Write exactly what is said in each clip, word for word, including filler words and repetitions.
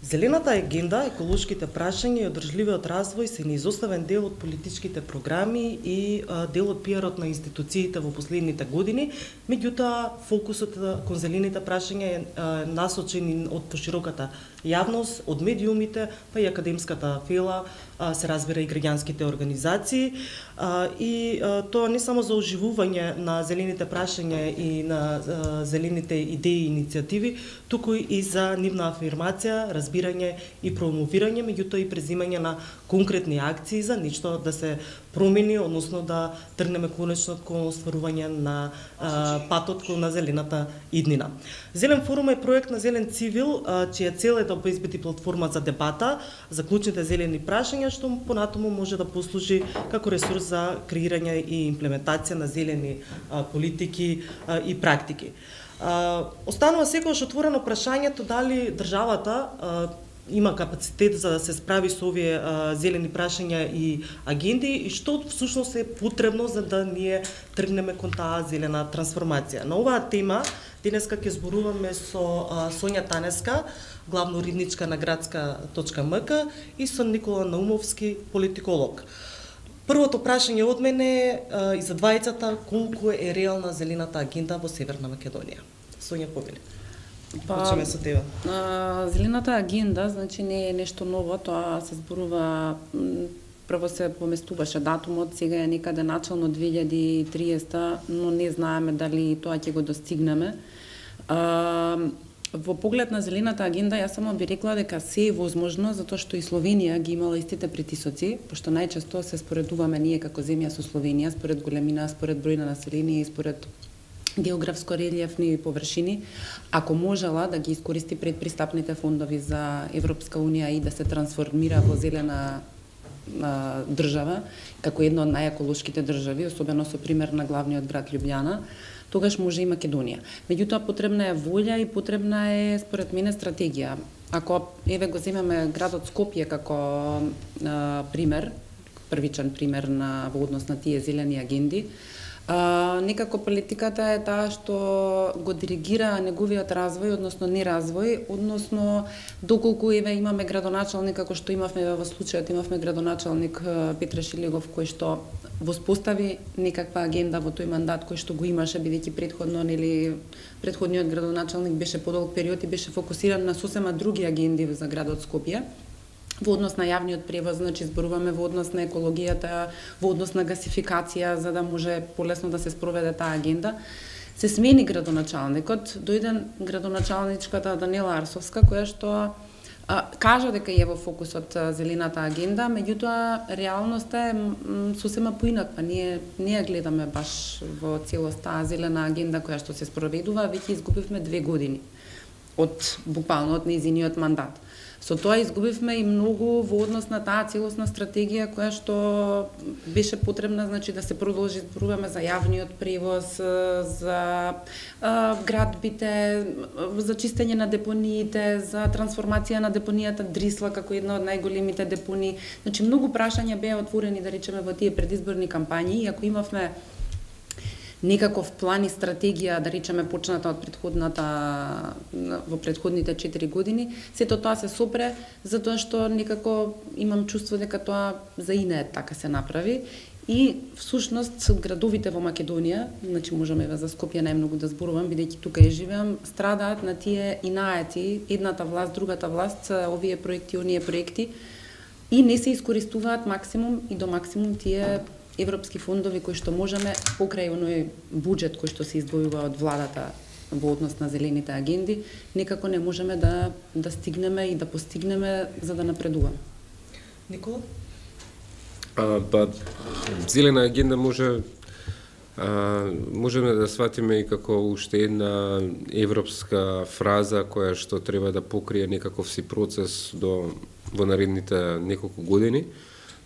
Зелената агенда, еколошките прашања и одржливиот развој се неизоставен дел од политичките програми и а, дел од пиарот на институциите во последните години, меѓутоа фокусот кон зелените прашања е а, насочен од пошироката јавност, од медиумите, па и академската фела, а, се разбира и граѓанските организации, а, и а, тоа не само за оживување на зелените прашања и на а, зелените идеи и иницијативи, туку и за нивна афирмација, разбирање и промовирање, меѓутоа и презимање на конкретни акции за нешто да се промени, односно да тргнеме конечно кон остварување на а, патот кон на зелената иднина. Зелен форум е проект на Зелен цивил, а, чија цел е да обезбеди платформа за дебата за клучните зелени прашања, што понатаму може да послужи како ресурс за креирање и имплементација на зелени а, политики а, и практики. А, останува секогаш отворено прашањето дали државата а, има капацитет за да се справи со овие а, зелени прашања и агенди и што всушност е потребно за да ние тргнеме кон таа зелена трансформација. На оваа тема денеска ќе зборуваме со а, Сонја Танеска, главна уредничка на градска точка ем ка и со Никола Наумовски, политиколог. Првото прашање од мене а, и за двајцата, колку е реална зелената агенда во Северна Македонија? Сонја, повели. Па, почнеме со тебе. А, зелената агенда, значи не е нешто ново, тоа се зборува, прво се поместуваше датумот, сега е некаде начално две илјади и триесета, но не знаеме дали тоа ќе го достигнеме. А, во поглед на зелената агенда, јас само би рекла дека се е возможно, затоа што и Словенија ги имала истите притисоци, пошто најчесто се споредуваме ние како земја со Словенија, според големина, според број на население и според географско релиефни површини, ако можела да ги искористи предпристапните фондови за Европска унија и да се трансформира во зелена а, држава, како една од најеколошките држави, особено со пример на главниот град Љубљана, тогаш може и Македонија. Меѓутоа потребна е волја и потребна е според мене стратегија. Ако еве го земеме градот Скопје како а, пример, првичен пример на во однос на тие зелени агенди, А, некако политиката е таа што го диригира неговиот развој, односно неразвој, односно доколку еве имаме градоначалник, како што имавме во случајот, имавме градоначалник Петре Шилегов кој што воспостави некаква агенда во тој мандат кој што го имаше, бидејќи претходно нели претходниот градоначалник беше подолг период и беше фокусиран на сосема други агенди за градот Скопје. Во однос на јавниот превоз, значи зборуваме во однос на екологијата, во однос на гасификација, за да може полесно да се спроведе таа агенда. Се смени градоначалникот, дојде градоначалничката Данела Арсовска, која што а, кажа дека е во фокусот зелената агенда, меѓутоа реалноста е сосема поинаква. Ние не ја гледаме баш во целост таа зелена агенда која што се спроведува, веќе изгубивме две години од буквално од нејзиниот мандат. Со тоа изгубивме и многу во однос на таа целосна стратегија која што беше потребна, значи да се продолжи, зборуваме за јавниот превоз, за а, градбите, за чистење на депониите, за трансформација на депонијата Дрисла како една од најголемите депонии. Значи многу прашања беа отворени, да речеме, во тие предизборни кампањи, и ако имавме некаков план и стратегија, да речеме, почната од предходната во предходните четири години, сето тоа се сопре затоа што некако имам чувство дека тоа за инеет така се направи и всушност градовите во Македонија, значи можеме за Скопје најмногу да зборувам бидејќи тука ја живеам, страдаат на тие инаети, едната власт, другата власт, овие проекти, оние проекти и не се искористуваат максимум и до максимум тие европски фондови кои што можеме покрај оној буџет кој што се издвојува од владата во однос на зелените агенди, некако не можеме да да стигнеме и да постигнеме за да напредуваме. Никола? А, па, зелена агенда може а, можеме да сватиме и како уште една европска фраза која што треба да покрие некаков си процес до во наредните неколку години.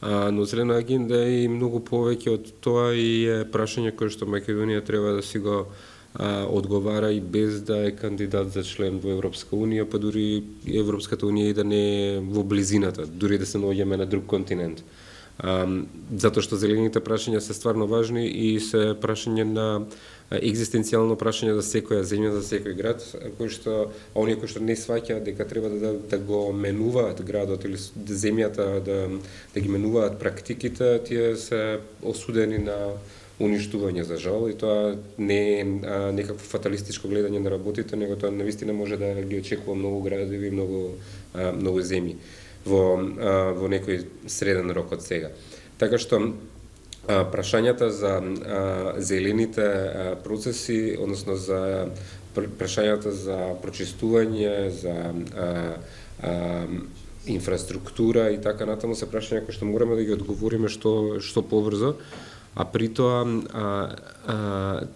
А, но зелена агенда е и многу повеќе од тоа и е прашање кое што Македонија треба да си го а, одговара и без да е кандидат за член во Европска унија, па дури Европската унија и да не е во близината, дури да се наоѓаме на друг континент. затоа што зелените прашања се стварно важни и се прашање на екзистенцијално прашање за секоја земја, за секој град, кој што оние кои што не сваќаат дека треба да, да го менуваат градот или земјата, да, да ги менуваат практиките, тие се осудени на уништување за жал, и тоа не е некакво фаталистичко гледање на работите, него тоа навистина може да ги очекува многу градови и многу, а, многу земји во, а, во некој среден рок од сега. Така што А, прашањата за а, зелените а, процеси, односно за прашањата за прочистување, за а, а, инфраструктура и така натаму се прашања кои што мораме да ги одговориме што што побрзо, а при тоа а, а,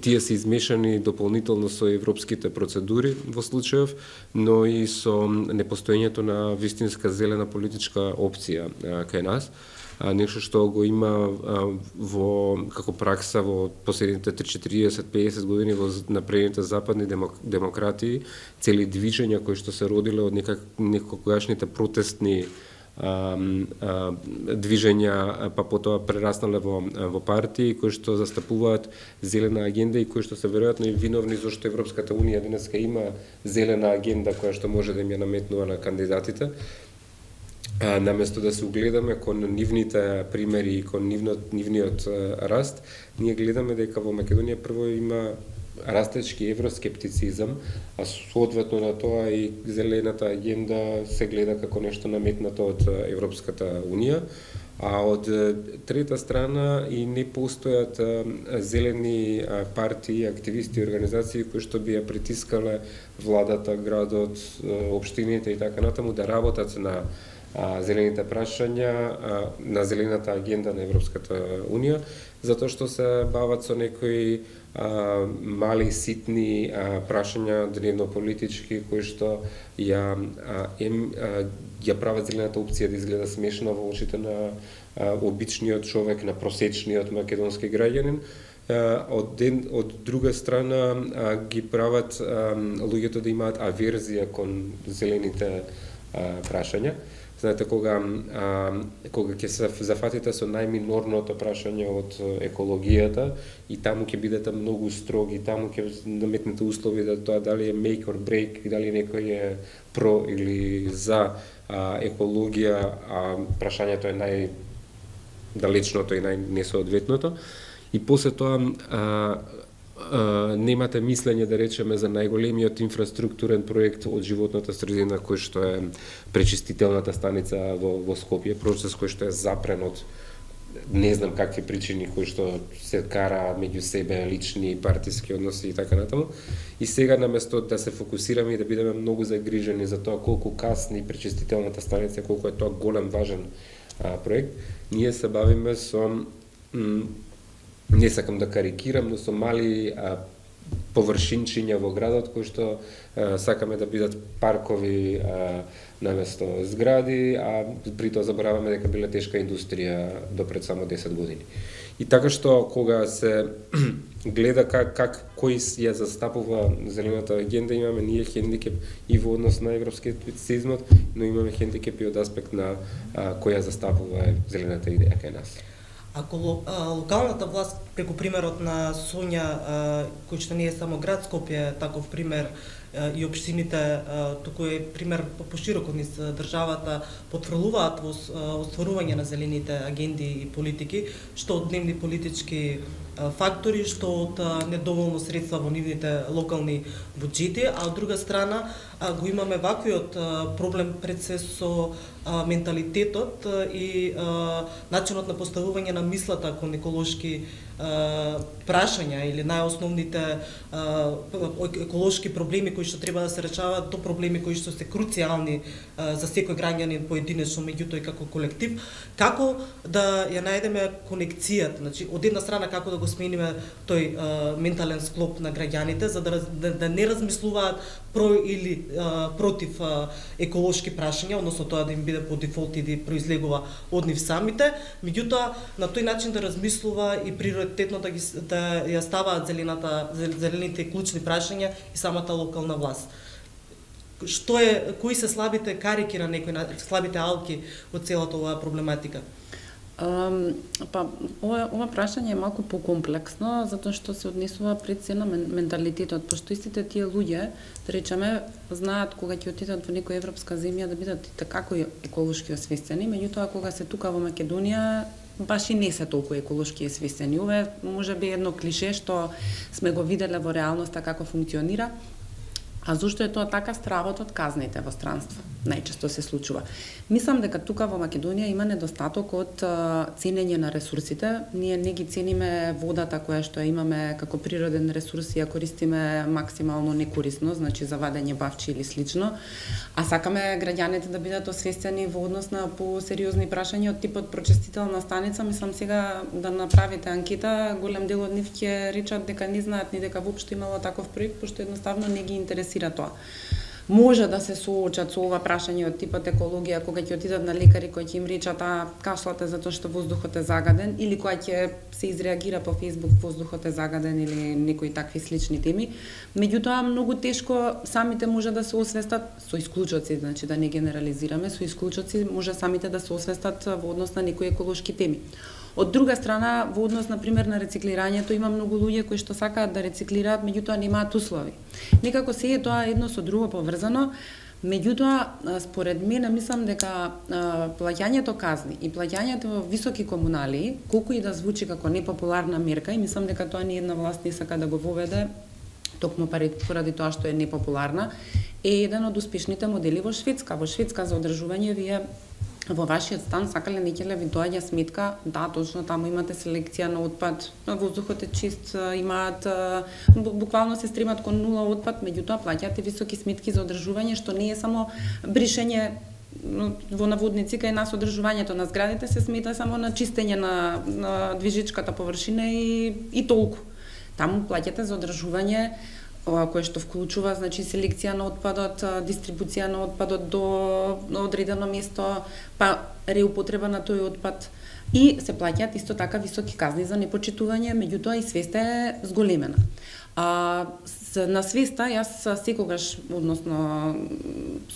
тие се измешани дополнително со европските процедури во случајов, но и со непостоењето на вистинска зелена политичка опција а, кај нас. А, нешто што го има а, во како пракса во последните триесет до песет години во напредните западни демок, демократии, цели движења кои што се родиле од некак некогашните протестни а, а, движења, па потоа прераснале во во партии кои што застапуваат зелена агенда и кои што се веројатно и виновни зашто Европската унија денеска има зелена агенда која што може да им ја наметнува на кандидатите. А, наместо да се угледаме кон нивните примери и кон нивниот, нивниот раст, ние гледаме дека во Македонија прво има растечки евроскептицизам, а соодветно на тоа и зелената агенда се гледа како нешто наметнато од Европската унија, а од трета страна и не постојат зелени партии, активисти и организации кои што би ја притискале владата, градот, општините и така натаму да работат на а, зелените прашања, а, на зелената агенда на Европската унија, затоа што се бават со некои а, мали, ситни а, прашања дневно-политички, кои што ја, а, ем, а, ја прават зелената опција да изгледа смешна во очите на а, обичниот човек, на просечниот македонски граѓанин. Од, ден, од друга страна а, ги прават а, луѓето да имаат аверзија кон зелените а, прашања. Знаете, кога, а, кога ќе се зафатите со најминорното прашање од екологијата и таму ќе бидете многу строги, таму ќе наметнете услови да тоа дали е make or break, дали некој е про или за а, екологија, а прашањето е најдалечното и најнесоодветното. И после тоа а, Uh, немате мислење, да речеме, за најголемиот инфраструктурен проект од животната средина кој што е пречистителната станица во, во Скопје, процес кој што е запрен од не знам какви причини кои што се кара меѓу себе, лични, партиски односи и така натаму. И сега наместо да се фокусираме и да бидеме многу загрижени за тоа колку касни пречистителната станица, колку е тоа голем важен а, проект, ние се бавиме со не сакам да карикирам, но со мали а, површинчиња во градот кои што а, сакаме да бидат паркови а, наместо згради, а при тоа забораваме дека биле тешка индустрија до пред само десет години. И така што кога се гледа как, как кој ја застапува зелената агенда, имаме ние хендикеп и во однос на евроскептицизмот, но имаме хендикеп и од аспект на а, која застапува зелената идеја кај нас. Ако локалната власт, преку примерот на Сонја, кој што не е само град Скопје, таков пример и општините, туку е пример пошироко низ државата, потврлуваат во остварување на зелените агенди и политики, што од дневни политички фактори, што од недоволно средства во нивните локални буџети, а од друга страна го имаме ваквиот проблем пред се со менталитетот и начинот на поставување на мислата кон еколошки прашања или најосновните еколошки проблеми кои што треба да се решаваат, до проблеми кои што се круцијални за секој граѓанин поединечно, меѓутоа и како колектив. Како да ја најдеме конекцијата, значи од една страна како да го смениме тој ментален склоп на граѓаните за да, да, да не размислуваат про или а, против а, еколошки прашања, односно тоа да им биде по дефолт и да произлегува од нив самите, меѓутоа на тој начин да размислува и приоритетно да ги да ја ставаат зелената зелените клучни прашања и самата локална власт. што е, кои се слабите карики на некои, слабите алки од целата оваа проблематика? Um, па, ова, ова прашање е малку покомплексно, затоа што се однесува пред се на менталитетот, пошто истите тие луѓе, да речеме, знаат кога ќе отидат во некоја европска земја да бидат како еколошки освестени, меѓутоа кога се тука во Македонија, баш и не се толку еколошки освестени. Ова е можеби едно клише што сме го виделе во реалноста како функционира. А зошто е тоа така? Стравот од казните во странство најчесто се случува. Мислам дека тука во Македонија има недостаток од ценење на ресурсите. Ние не ги цениме водата која што имаме како природен ресурс и ја користиме максимално некорисно, значи за вадење бавчи или слично. А сакаме граѓаните да бидат освестени во однос на посериозни прашања од типот прочестителна станица. Мислам сега да направите анкета, голем дел од нив ќе речат дека не знаат ни дека воопшто имало таков проект, пошто едноставно не ги интересира тоа. Може да се соочат со ова прашање од типот екологија кога ќе отидат на лекари кои ќе им речат а кашлате затоа што воздухот е загаден, или кога ќе се изреагира по Facebook воздухот е загаден или некои такви слични теми. Меѓутоа многу тешко самите може да се освестат со исклучоци, значи да не генерализираме, со исклучоци може самите да се освестат во однос на некои еколошки теми. Од друга страна, во однос на пример на рециклирањето, има многу луѓе кои што сакаат да рециклираат, меѓутоа немаат услови. Некако се е тоа едно со друго поврзано, меѓутоа според мене мислам дека плаќањето казни и плаќањето во високи комунали, колку и да звучи како непопуларна мерка, и мислам дека тоа ни една власт не сака да го воведе, токму поради тоа што е непопуларна, е еден од успешните модели во Шведска. Во Шведска за одржување вие во вашиот стан сакале некеле ви доаѓа сметка, да, точно таму имате селекција на отпад, воздухот е чист, имаат буквално се стремат кон нула отпад, меѓутоа плаќате високи сметки за одржување, што не е само бришење во наводници кај нас одржувањето на зградите се смета само на чистење на, на движечката површина и, и толку. Таму плаќате за одржување кое што вклучува значи селекција на отпадот, дистрибуција на отпадот до одредено место, па реупотреба на тој отпад, и се плаќаат исто така високи казни за непочитување, меѓутоа и свеста е зголемена. А на свеста јас секогаш, односно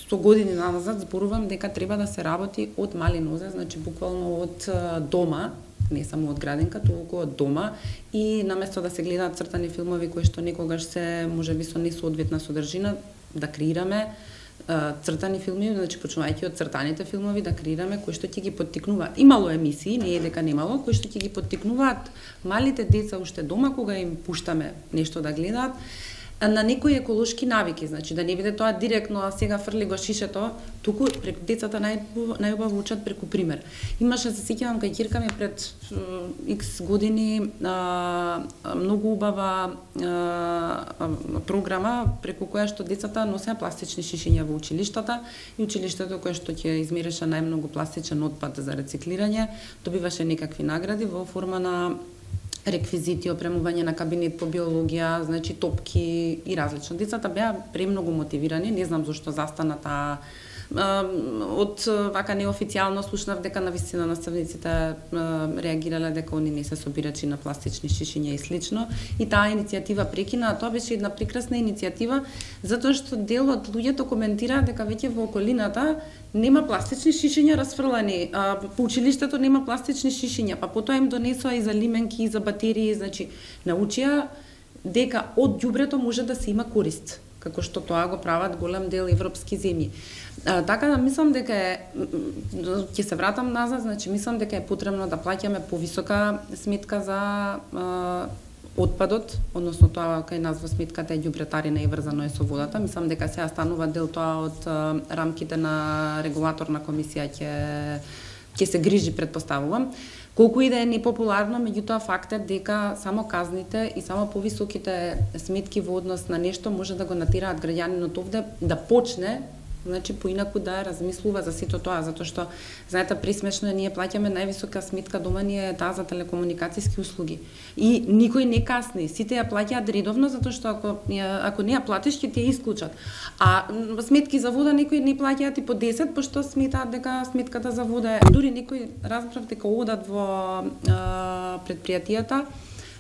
сто години назад зборувам дека треба да се работи од мали нозе, значи буквално од дома, не само од градинка, толку од дома, и наместо да се гледаат цртани филмови кои што некогаш се можеби со несоодветна содржина, да креираме цртани филми, значи почнувајќи од цртаните филмови, да креираме кои што ќе ги поттикнуваат. Имало емисии, не е дека немало, кои што ќе ги поттикнуваат малите деца уште дома кога им пуштаме нешто да гледаат, на некои еколошки навики, значи да не биде тоа директно, а сега фрли го шишето, туку преку децата најубаво учат преку пример. Имаше, се сеќавам, кај ќерка ми пред икс години а, многу убава а, програма преку која што децата носеа пластични шишиња во училиштата, и училиштето кое што ќе измереше најмногу пластичен отпад за рециклирање добиваше некакви награди во форма на реквизити, опремување на кабинет по биологија, значи топки и различно. Децата беа премногу мотивирани, не знам зошто застана таа. Од вака неофицијално слушнав дека навистина наставниците реагирале дека они не се собирачи на пластични шишиња и слично, и таа иницијатива прекина, а тоа беше една прекрасна иницијатива затоа што дел од луѓето коментираа дека веќе во околината нема пластични шишиња расфрлани, а по училиштето нема пластични шишиња, па потоа им донесоа и за лименки, и за батерии, значи научија дека од ѓубрето може да се има корист, како што тоа го прават голем дел европски земји. А, така да мислам дека е, ќе се вратам назад, значи мислам дека е потребно да плаќаме повисока сметка за а, отпадот, односно тоа кај нас во сметката е ѓубретарина и врзано е со водата. Мислам дека сега станува дел тоа од а, рамките на регулаторна комисија ќе ќе се грижи, предпоставувам. Колку и да е непопуларно, меѓутоа факт е дека само казните и само повисоките сметки во однос на нешто може да го натираат граѓанинот овде да почне, значи поинаку да размислува за сето тоа, затоа што знаете присмешно е, ние плаќаме највисока сметка дома ни е таа за телекомуникацијски услуги. И никој не касни, сите ја плаќаат редовно затоа што ако ако не ја платиш ќе ти ја исклучат. А сметки за вода некои не плаќаат и по десет, пошто сметаат дека сметката за вода е, дури некои разбрав дека одат во а, предпријатијата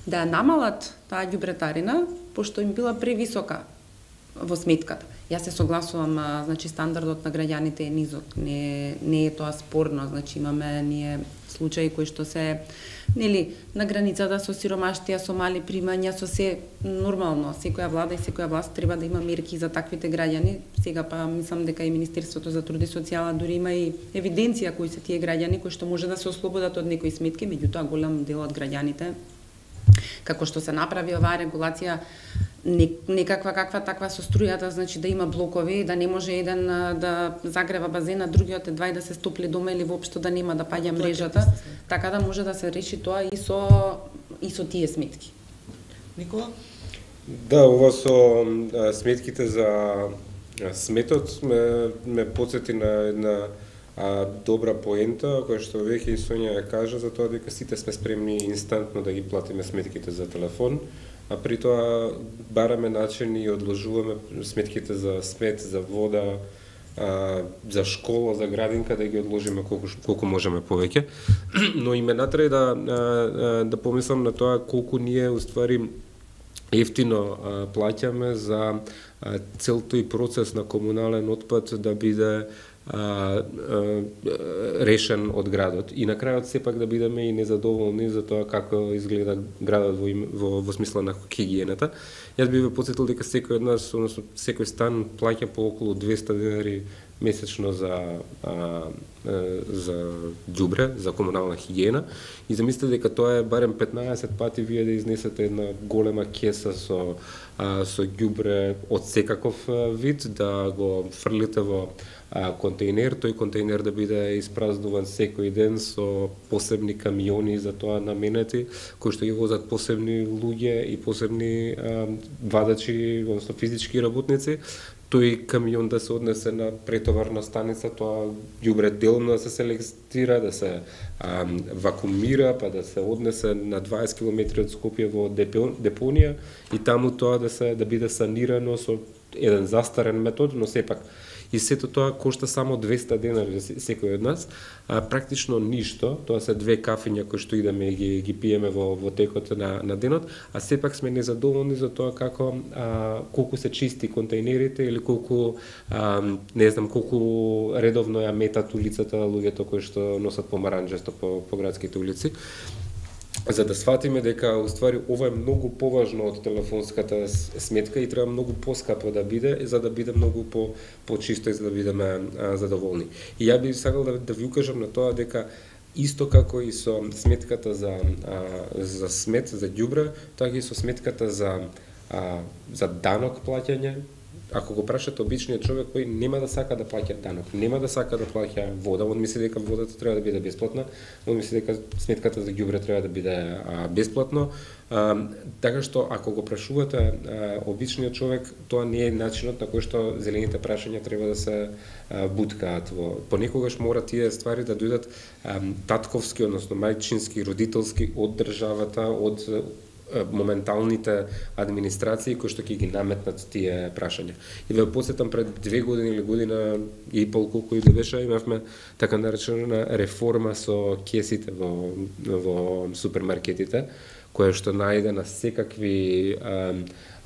да ја намалат таа ѓубретарина, пошто им била превисока во сметката. Јас се согласувам, значи стандардот на граѓаните е низок, не не е тоа спорно, значи имаме ние случаи кои што се нели на границата со сиромаштија, со мали примања, со се нормално. Секоја влада и секоја власт треба да има мерки за таквите граѓани. Сега па мислам дека и Министерството за труд и социјала дури има и евиденција кои се тие граѓани кои што може да се ослободат од некои сметки, меѓутоа голем дел од граѓаните како што се направи оваа регулација некаква каква таква со струјата, значи да има блокови, да не може еден да загрева базена, другиот е два и да се стопли дома или воопшто да нема да паѓа мрежата, така да може да се реши тоа и со и со тие сметки. Никола? Да, ова со а, сметките за а, сметот ме ме потсети на една а, добра поента која што веќе и Сонја ја кажа за тоа дека сите сме спремни инстантно да ги платиме сметките за телефон, а при тоа бараме начини и одложуваме сметките за смет, за вода, а, за школа, за градинка да ги одложиме колку колку можеме повеќе. Но и ме натре да а, да помислам на тоа колку ние уствари ефтино а, плаќаме за а, цел тој процес на комунален отпад да биде А, а, решен од градот и на крајот сепак да бидеме и незадоволни за тоа како изгледа градот во, во, во смисла на хигиената. Јас би ве потсетил дека секој од нас, односно секој стан плаќа по околу двесте денари месечно за а, за ѓубре, за комунална хигиена и замислете дека тоа е барем петнаесет пати вие да изнесете една голема кеса со а, со ѓубре од секаков вид, да го фрлите во а, контейнер, тој контейнер да биде испразнуван секој ден со посебни камиони за тоа наменети, кои што ги возат посебни луѓе и посебни а, вадачи, односно физички работници. Тој камион да се однесе на претоварна станица, тоа ѓубре делно да се селектира, да се а, вакуумира, па да се однесе на дваесет километри од Скопје во депонија и таму тоа да се да биде санирано со еден застарен метод, но сепак и сето тоа кошта само двесте денари за секој од нас, а практично ништо, тоа се две кафиња кои што идеме и ги, ги пиеме во, во текот на, на денот, а сепак сме незадоволни за тоа како а, колку се чисти контейнерите или колку а, не знам колку редовно ја метат улицата луѓето кои што носат помаранџесто по, по градските улици. За да сватиме дека уствари ова е многу поважно од телефонската сметка и треба многу поскапо да биде за да биде многу по почисто и за да бидеме а, задоволни. И ја би сакал да, да ви укажам на тоа дека исто како и со сметката за а, за смет, за ѓубре, така и со сметката за а, за данок плаќање. Ако го прашате обичниот човек кој нема да сака да плаќа данок, нема да сака да плаќа вода, он мисли дека водата треба да биде бесплатна, он мисли дека сметката за ѓубре треба да биде а, бесплатно. А, така што ако го прашувате а, обичниот човек, тоа не е начинот на кој што зелените прашања треба да се а, буткаат во. Понекогаш мора тие ствари да дојдат а, татковски, односно мајчински, родителски од државата, од моменталните администрации кои што ќе ги наметнат тие прашања. И ве потсетам пред две години или година и пол колку и да беше, имавме така наречена реформа со кесите во во супермаркетите, која што најде на секакви а,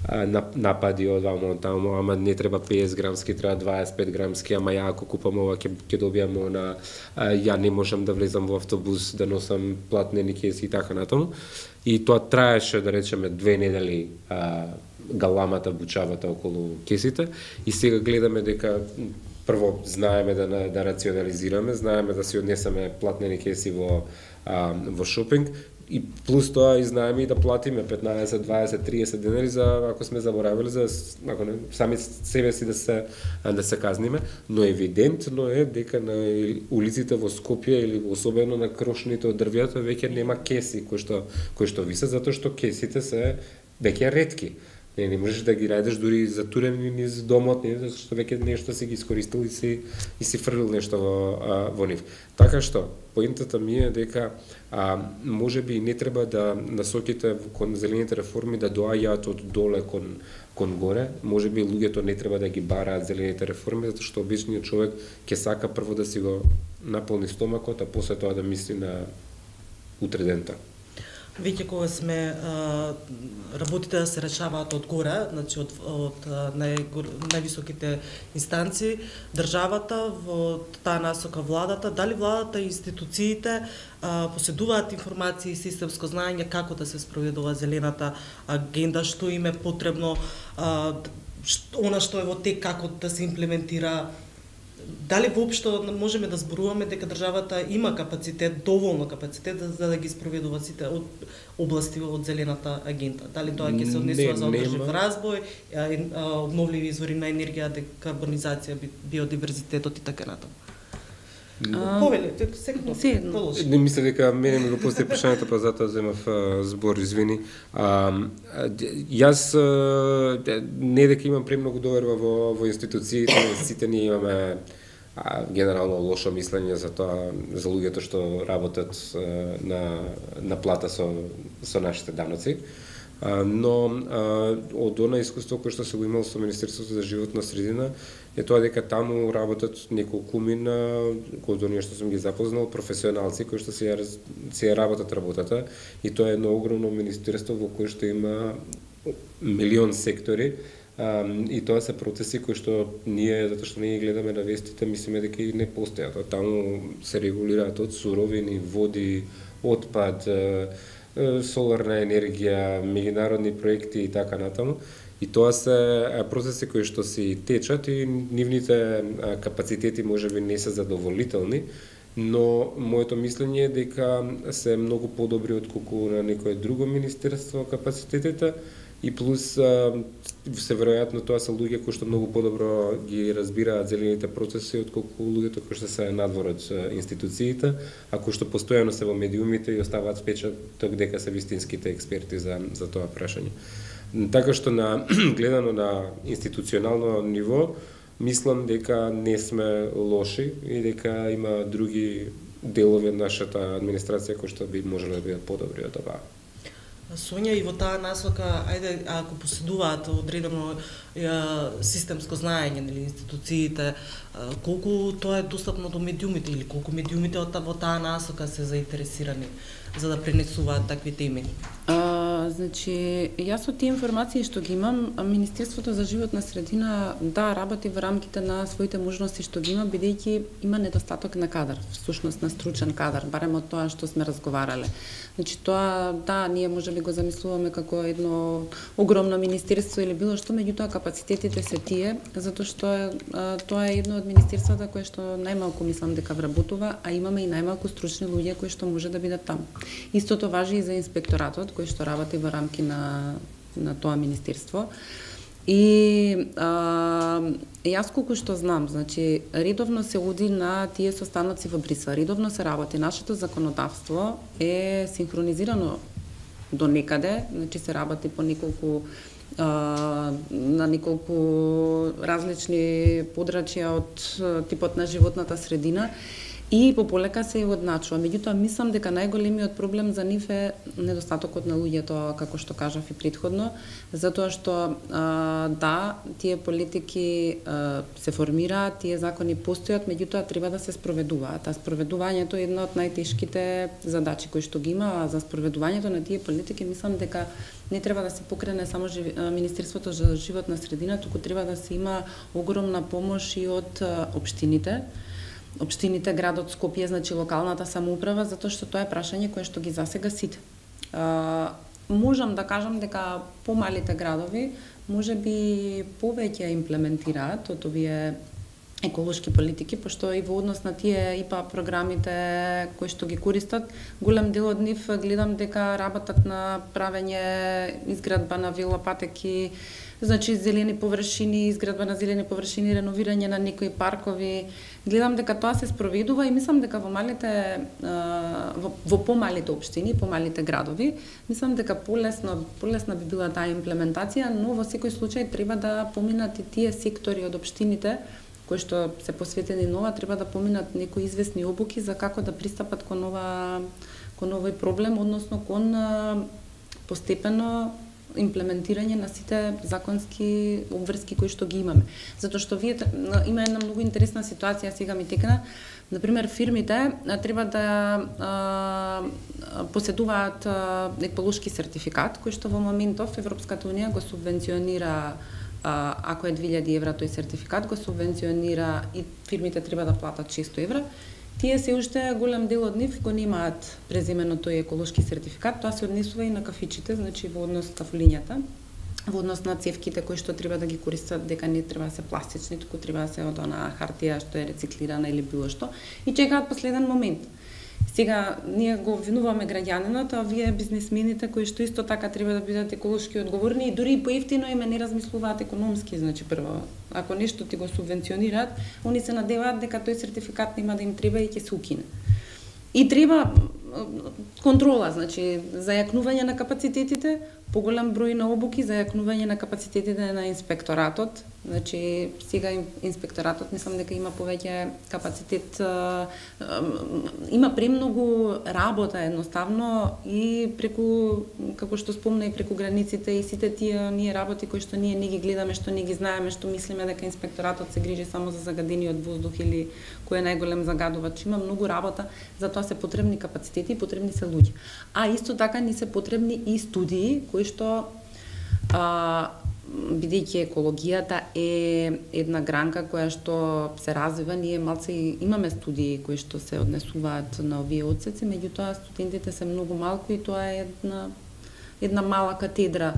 а, напади од вамо таму, ама не треба песет грамски, треба дваесет и пет грамски, ама ја ако купам ова ќе ќе добиам она, ја не можам да влезам во автобус да носам платнени кеси и така натаму. И тоа траеше, да речеме, две недели а, галамата, бучавата околу кесите и сега гледаме дека прво знаеме да да рационализираме, знаеме да си однесеме платнени кеси во а, во шопинг и плюс тоа и знаеме и да платиме петнаесет, дваесет, триесет денари за ако сме заборавили за ако не сами себе си да се да се казниме, но евидентно е дека на улиците во Скопје или особено на крошните од дрвјата веќе нема кеси кои што кои што висат затоа што кесите се веќе ретки. Не, не можеш да ги најдеш дури затурени низ домот, не, затоа што веќе нешто си ги искористил и си и си фрлил нешто во а, во нив. Така што поентата ми е дека а, можеби не треба да насоките кон зелените реформи да доаѓаат од доле кон кон горе, можеби луѓето не треба да ги бараат зелените реформи затоа што обичниот човек ќе сака прво да си го наполни стомакот, а после тоа да мисли на утредента. Веќе кога сме а, работите да се решаваат од горе, значи од, од нај, највисоките инстанции, државата, во таа насока владата, дали владата и институциите а, поседуваат информации и системско знаење како да се спроведува зелената агенда, што им е потребно, а, што, она што е во тек, како да се имплементира. Дали воопшто можеме да зборуваме дека државата има капацитет, доволно капацитет за, за да ги спроведува сите од области од зелената агенда? Дали тоа ќе се однесува за одржлив развој, обновливи извори на енергија, декарбонизација, биодиверзитетот и така натаму? Повелете, секој. Не мисля дека мене ми го постави прашањето, па затоа земав збор, извини. А, јас не дека имам премногу доверба во, во институциите, сите ние имаме а, генерално лошо мислење за тоа, за луѓето што работат а, на, на плата со, со нашите даноци. А, но а, од она искуство кој што се го имал со Министерството за животна средина е тоа дека таму работат неколкумина, од оние што сум ги запознал, професионалци кои што се се работат работата, и тоа е едно огромно министерство во кое што има милион сектори, а, и тоа се процеси кои што ние, затоа што ние гледаме на вестите, мислиме дека и не постојат. Таму се регулираат од суровини, води, отпад, соларна енергија, меѓународни проекти и така натаму. И тоа се процеси кои што си течат и нивните капацитети можеби не се задоволителни, но моето мислење е дека се многу подобри отколку на некое друго министерство капацитетите, и плюс се веројатно тоа се луѓе кои што многу подобро ги разбираат зелените процеси отколку луѓето кои што се надвор од институциите, а кои што постојано се во медиумите и оставаат впечаток дека се вистинските експерти за за тоа прашање. Така што на гледано на институционално ниво, мислам дека не сме лоши и дека има други делови од нашата администрација кои што би можеле да бидат подобри од оваа. Сонја, и во таа насока, ајде, ако поседуваат одредено системско знаење, нели, институциите, колку тоа е достапно до медиумите или колку медиумите во таа насока се заинтересирани за да пренесуваат такви теми? А, значи, јас од тие информации што ги имам, Министерството за животна средина да работи во рамките на своите можности што ги има, бидејќи има недостаток на кадар, всушност на стручен кадар, барем од тоа што сме разговарале. Значи тоа, да, ние можеби го замислуваме како едно огромно министерство или било што, меѓутоа капацитетите се тие, затоа што е, а, тоа е едно од министерствата кое што најмалку мислам дека вработува, а имаме и најмалку стручни луѓе кои што може да бидат таму. Истото важи и за инспекторатот кој што работи во рамки на на тоа министерство. И а, јас колку што знам, значи редовно се оди на тие состаноци во Брисел, редовно се работи. Нашето законодавство е синхронизирано до некаде, значи се работи по неколку а, на неколку различни подрачја од типот на животната средина, и пополека се одначува. Меѓутоа, мислам дека најголемиот проблем за нив е недостатокот на луѓето, како што кажав и претходно, затоа што а, да, тие политики а, се формираат, тие закони постојат, меѓутоа треба да се спроведуваат. А спроведувањето е една од најтешките задачи кои што ги има, а за спроведувањето на тие политики мислам дека не треба да се покрене само Министерството за животна средина, туку треба да се има огромна помош и од општините. Општините, градот Скопје, значи локалната самоуправа, затоа што тоа е прашање кое што ги засега сите. А, можам да кажам дека помалите градови можеби повеќе имплементираат од овие еколошки политики, пошто и во однос на тие ИПА програмите кои што ги користат, голем дел од нив гледам дека работат на правење изградба на велопатеки, значи зелени површини, изградба на зелени површини, реновирање на некои паркови. Гледам дека тоа се спроведува и мислам дека во малите во, во помалите општини, помалите градови, мислам дека полесно полесна би била таа имплементација, но во секој случај треба да поминат и тие сектори од општините кои што се посветени нова, треба да поминат некои известни обуки за како да пристапат кон ова кон овој проблем, односно кон постепено имплементирање на сите законски обврски кои што ги имаме. Затоа што вие има една многу интересна ситуација сега ми текна. Например, фирмите треба да а, поседуваат а, еколошки сертификат кој што во моментов Европската унија го субвенционира. Ако е две илјади евра тој сертификат, го субвенционира и фирмите треба да платат шестоста евра. Тие се уште голем дел од нив го немаат преземено тој еколошки сертификат, тоа се однесува и на кафичите, значи во однос кафулињата, во однос на цевките кои што треба да ги користат, дека не треба да се пластични, туку треба да се од она хартија што е рециклирана или било што, и чекаат последен момент. Сега, ние го обвинуваме граѓанинот, а вие бизнисмените кои што исто така треба да бидат еколошки одговорни и дури и поевтино име не размислуваат економски, значи прво, ако нешто ти го субвенционираат, они се надеваат дека тој сертификат нема да им треба и ќе се укине. И треба контрола, значи зајакнување на капацитетите, поголем број на обуки, зајакнување на капацитетите на инспекторатот. Значи сега инспекторатот мислам дека има повеќе капацитет, има премногу работа едноставно и преку, како што спомна, и преку границите и сите тие ние работи кои што ние не ги гледаме, што не ги знаеме, што мислиме дека инспекторатот се грижи само за загадениот воздух или кој е најголем загадувач. Има многу работа, затоа се потребни капацитети и потребни се луѓе. А исто така ни се потребни и студии кои што а, бидејќи екологијата е една гранка која што се развива, ние малце имаме студии кои што се однесуваат на овие одсеци, меѓутоа студентите се многу малку и тоа е една една мала катедра.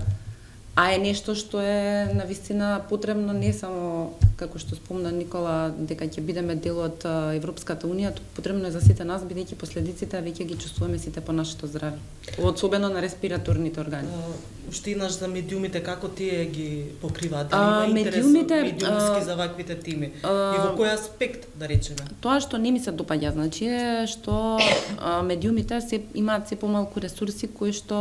А е нешто што е навистина потребно не само, како што спомна Никола, дека ќе бидеме дел од Европската унија, потребно е за сите нас, бидејќи последиците веќе ги чувствуваме сите по нашето здравје, особено на респираторните органи. Уште еднаш за медиумите, како тие ги покриваат? А, има интерес медиумите, медиумски за ваквите тими? А, и во кој аспект, да речеме? Тоа што не ми се допаѓа, значи е што а, медиумите се имаат се помалку ресурси кои што,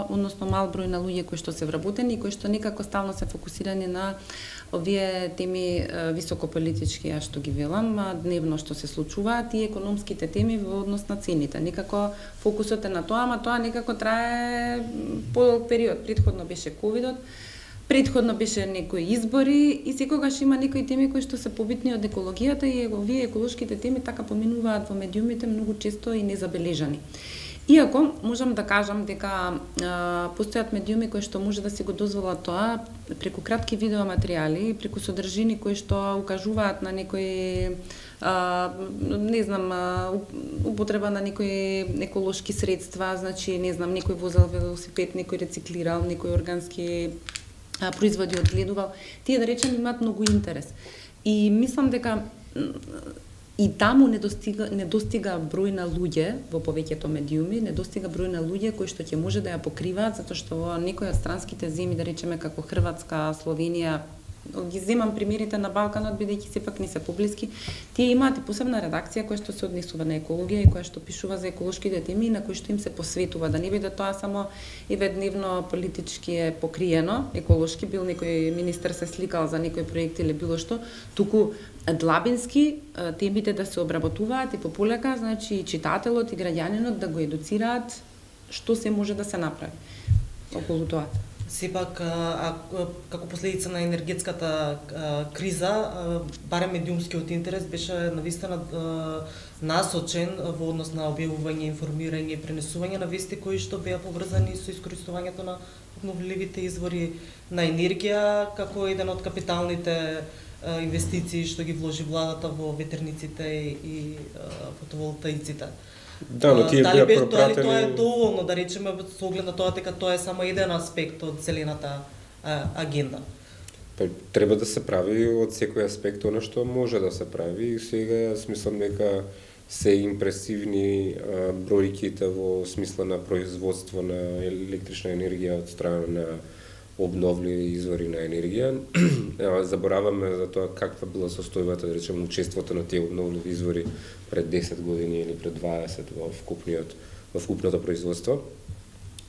односно мал број на луѓе кои што се вработени и кои што некако стално се фокусирани на овие теми високополитички, ја што ги велам, дневно што се случуваат и економските теми во однос на цените. Некако фокусот е на тоа, ама тоа некако трае подолг период. Претходно беше ковидот, претходно беше некои избори и секогаш има некои теми кои што се побитни од екологијата и овие еколошките теми така поминуваат во медиумите многу често и незабележани. Иако можам да кажам дека а, постојат медиуми кои што може да си го дозволат тоа преку кратки видеоматеријали, преку содржини кои што укажуваат на некои а, не знам а, употреба на некои еколошки средства, значи не знам некој возел велосипед, некој рециклирал, некој органски а, производи одгледувал. Тие да речем имаат многу интерес. И мислам дека и таму не достига, не достига број на луѓе во повеќето медиуми, не достига број на луѓе кои што ќе може да ја покриваат, затоа што во некои од странските земји, да речеме како Хрватска, Словенија, ги земам примерите на Балканот, бидејќи сепак не се поблиски, тие имаат и посебна редакција која што се однесува на екологија и која што пишува за еколошките теми и на кои што им се посветува, да не биде тоа само еведневно политички е покриено, еколошки бил некој министер се сликал за некој проект или било што, туку длабински темите да се обработуваат и пополека, значи и читателот и граѓанинот да го едуцираат што се може да се направи околу тоа. Сепак, а, а, како последица на енергетската а, криза, а, барем медиумскиот интерес беше навистина насочен во однос на објавување, информирање и пренесување на вести кои што беа поврзани со искористувањето на обновливите извори на енергија, како еден од капиталните а, инвестиции што ги вложи владата во ветерниците и а, фотоволтаиците. Да, но тие дали беа пропратени... Дали тоа е пропратени... доволно, да речеме, со оглед на тоа дека тоа е само еден аспект од зелената а, агенда? Па, треба да се прави од секој аспект она што може да се прави и сега смислам дека се импресивни а, бројките во смисла на производство на електрична енергија од страна на обновливи извори на енергија. Забораваме за тоа каква била состојбата, да речеме, учеството на тие обновливи извори пред десет години или пред дваесет во вкупниот во вкупното производство.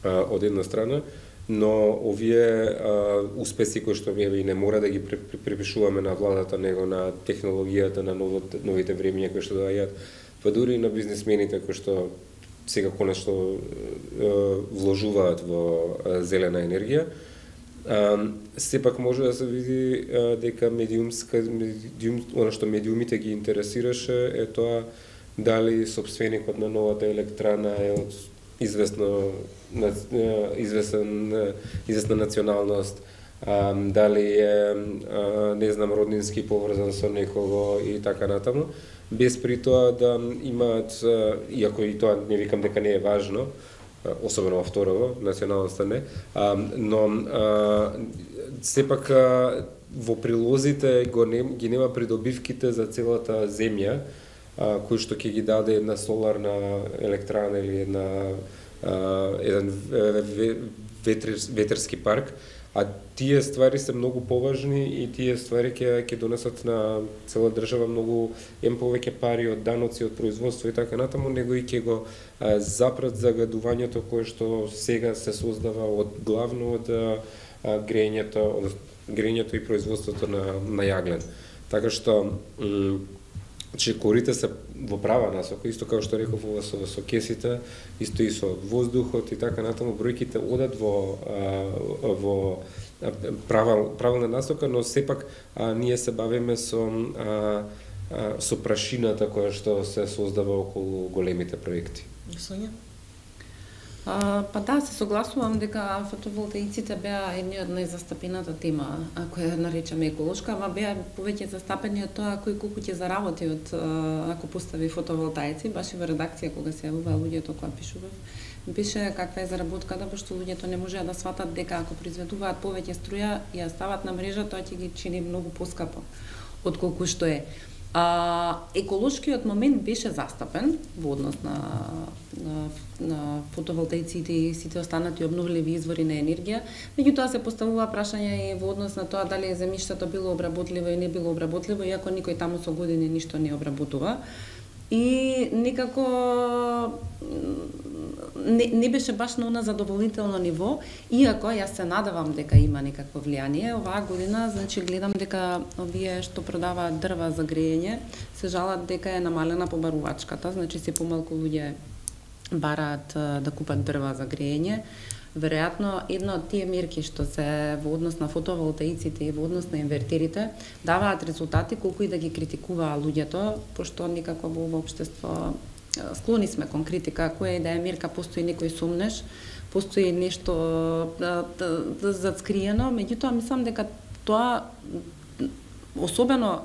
А, од една страна, но овие а, успеси кои што ние не мора да ги припишуваме на владата, него на технологијата, на новите, новите времиња кои што доаѓаат, па дури и на бизнисмените кои што сега конечно вложуваат во зелена енергија. Сепак може да се види дека медиумска медиум, она што медиумите ги интересираше е тоа дали собственикот на новата електрана е од известно известен известна националност, дали е не знам роднински поврзан со некого и така натаму, без при тоа да имаат, иако и тоа не викам дека не е важно, особено во второво, националноста не, но сепак во прилозите го не, ги нема придобивките за целата земја, кој што ќе ги даде една соларна електрана или една еден ветерски парк, а тие ствари се многу поважни и тие ствари ќе ќе донесат на цела држава многу ем повеќе пари од даноци, од производство и така натаму, него и ќе го а, запрат загадувањето кое што сега се создава од главно од а, грењето, од грењето и производството на на јаглен. Така што че корите се во права насока, исто како што реков ова со, со кесите, исто и со воздухот и така натаму, бројките одат во во правил, правилна насока, но сепак а, ние се бавиме со а, а, со прашината која што се создава околу големите проекти. Сонја? А, па да, се согласувам дека фотоволтаиците беа една од најзастапената тема, која наречаме еколошка, ама беа повеќе застапени од тоа кој колку ќе заработи од ако постави фотоволтаици. Баш и во редакција кога се јавува луѓето кога пишував, пише каква е заработката, пошто луѓето не можеа да сватат дека ако произведуваат повеќе струја и ја стават на мрежа, тоа ќе ги чини многу поскапо отколку што е. А, еколошкиот момент беше застапен во однос на, на, на фотоволтаиците и сите останати обновливи извори на енергија, меѓутоа се поставува прашање и во однос на тоа дали земјиштето било обработливо и не било обработливо, иако никој таму со години ништо не обработува. И некако не, не беше баш на она задоволително ниво, иако јас се надевам дека има некакво влијание. Оваа година, значи, гледам дека овие што продаваат дрва за грејење се жалат дека е намалена побарувачката, значи се помалку луѓе бараат да купат дрва за грејење. Веројатно, една од тие мерки што се во однос на фотоволтаиците и во однос на инвертерите даваат резултати колку и да ги критикуваа луѓето, пошто никако во ова општество склони сме кон критика, која и да е мерка, постои некој сумнеш, постои нешто да, да, да зацкриено, меѓутоа мислам дека тоа, особено,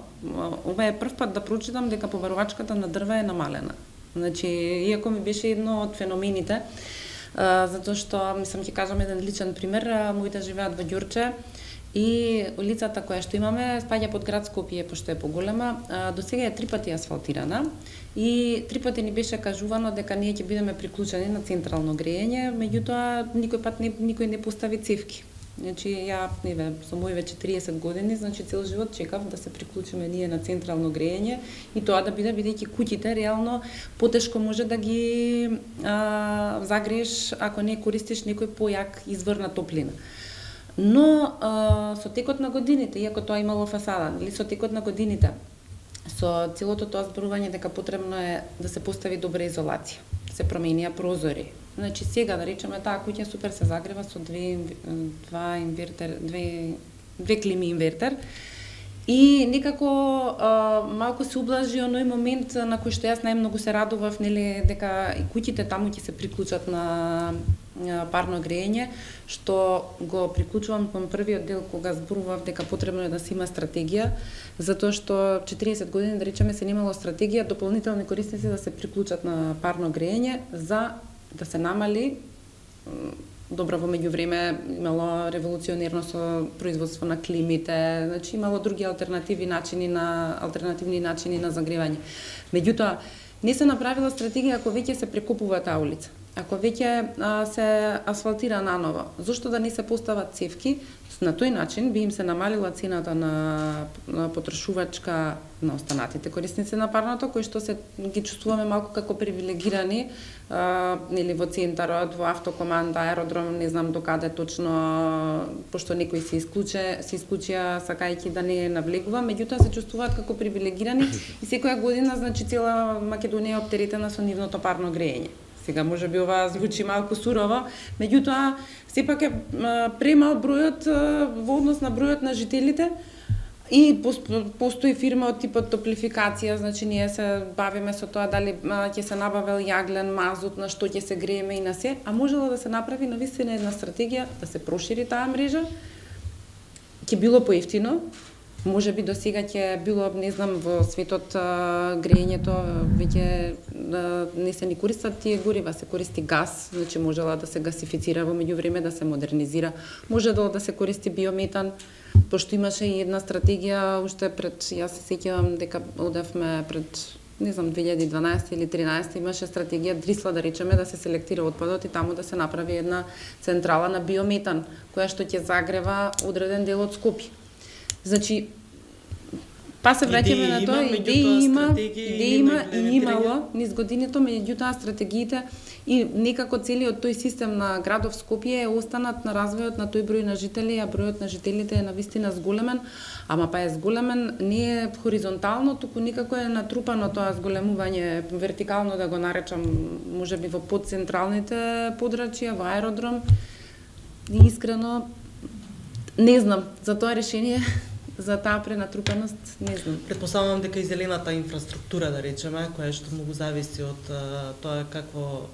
ова е прв пат да прочитам дека побарувачката на дрва е намалена. Значи, иако ми беше едно од феномените, Uh, затоа што, мислам, ќе кажам еден личен пример, моите живеат во Ѓурче и улицата која што имаме спаѓа под град Скопје, пошто е поголема, uh, до сега е три пати асфалтирана и три пати ни беше кажувано дека ние ќе бидеме приклучени на централно грејење, меѓутоа никој пат не, никој не постави цевки. Значи, ја, неве, со мои веќе триесет години, значи цел живот чекав да се приклучиме ние на централно грејење и тоа да биде, бидејќи куќите реално потешко може да ги а, загрееш ако не користиш некој појак извор на топлина. Но а, со текот на годините, иако тоа имало фасада, или со текот на годините, со целото тоа зборување дека потребно е да се постави добра изолација, се променија прозори. Значи сега да речеме таа куќа супер се загрева со две два инвертер, две две клими инвертер. И некако а, малку се ублажи оној момент на кој што јас најмногу се радував, нели, дека и куќите таму ќе се приклучат на парно грејење, што го приклучувам кон првиот дел кога зборував дека потребно е да се има стратегија, затоа што четириесет години да речеме се немало стратегија дополнителни корисници да се приклучат на парно грејење за да се намали. Добро, во меѓувреме имало револуционерно со производство на климите, значи имало други алтернативи начини на алтернативни начини на загревање. Меѓутоа не се направила стратегија ако веќе се прекопува таа улица. Ако веќе а, се асфалтира наново, зошто да не се постават цевки? На тој начин би им се намалила цената на, на потрошувачка на останатите корисници на парното, кои што се ги чувствуваме малку како привилегирани, а, или во центарот, во автокоманда, аеродром, не знам докаде точно, пошто некои се исклуче, се исклучија сакајќи да не навлегува, меѓутоа се чувствуваат како привилегирани и секоја година, значи, цела Македонија е оптеретена со нивното парно грејење. Сега може би ова звучи малку сурово, меѓутоа сепак е премал бројот во однос на бројот на жителите. И постои фирма од типот топлификација, значи ние се бавиме со тоа дали ќе се набавел јаглен, мазут, на што ќе се грееме и на се, а можело да се направи навистина една стратегија да се прошири таа мрежа. Ќе било поевтино, може би до сега ќе било, не знам, во светот греењето веќе не се ни користат тие горива, се користи газ, значи можела да се гасифицира во меѓувреме, да се модернизира, може да се користи биометан, пошто имаше и една стратегија уште пред, јас се сеќавам дека одевме пред, не знам, две илјади и дванаесета или тринаесета, имаше стратегија Дрисла, да речеме, да се селектира отпадот и таму да се направи една централа на биометан, која што ќе загрева одреден дел од Скопје. Значи, па се враќаме на тоа, идеи има, идеи има и имало низ годините, меѓутоа стратегиите и некако целиот тој систем на градов Скопје е останат на развојот на тој број на жители, а бројот на жителите е навистина зголемен, ама па е зголемен не е хоризонтално, туку некако е натрупано тоа зголемување, вертикално да го наречам, можеби во подцентралните подрачја, во аеродром. И искрено не знам за тоа решение. За таа пренатрупаност, не знам. Предпоставувам дека и зелената инфраструктура, да речеме, која што многу зависи од а, тоа какво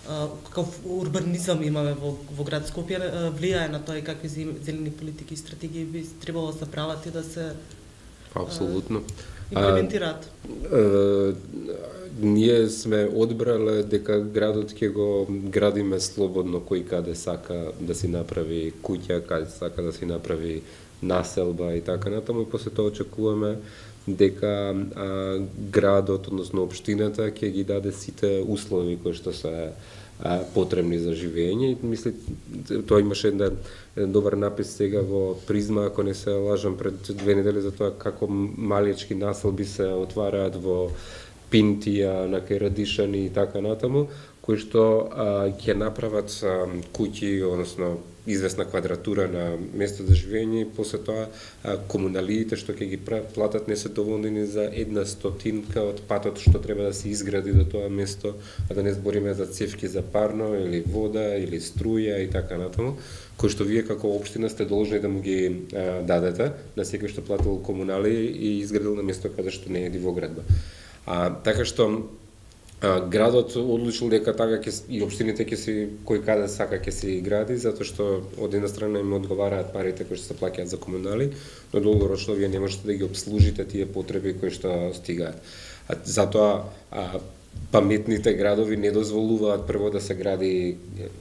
а, каков урбанизам имаме во, во град Скопје, а, влијае на тоа и какви зелени политики и стратегии би требало да се прават и да се Апсолутно. имплементираат. А, а, ние сме одбрале дека градот ќе го градиме слободно, кој каде сака да си направи куќа, каде сака да си направи населба и така натаму, и после тоа очекуваме дека а, градот, односно општината, ќе ги даде сите услови кои што се а, потребни за живење. И мисли, тоа имаше еден, еден добар напис сега во Призма, ако не се лажам, пред две недели, за тоа како малечки населби се отвараат во Пинтија, на кај Радишани и така натаму, кои што а, ќе направат а, куќи, односно известна квадратура на место за живење, и после тоа а, комуналиите што ќе ги платат не се доволни ни за една стотинка од патот што треба да се изгради до тоа место, а да не збориме за цевки за парно или вода или струја и така натаму, кои што вие како општина сте должни да му ги а, дадете на секој што платил комунали и изградил на место каде што не е дивоградба. А така што а, градот одлучил дека така ќе и општините ќе си кој каде сака ќе се гради, затоа што од една страна им одговараат парите кои што се плаќаат за комунали, но долгорочно вие не можете да ги обслужите тие потреби кои што стигаат. А, затоа а, паметните градови не дозволуваат прво да се гради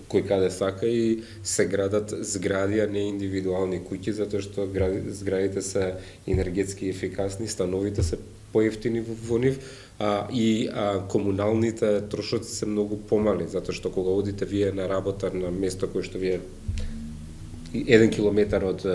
кој каде сака и се градат згради, а не индивидуални куќи, затоа што зградите се енергетски ефикасни, становите се поевтини во нив, а, и а, комуналните трошоци се многу помали, затоа што кога одите вие на работа на место кое што вие еден километар од е,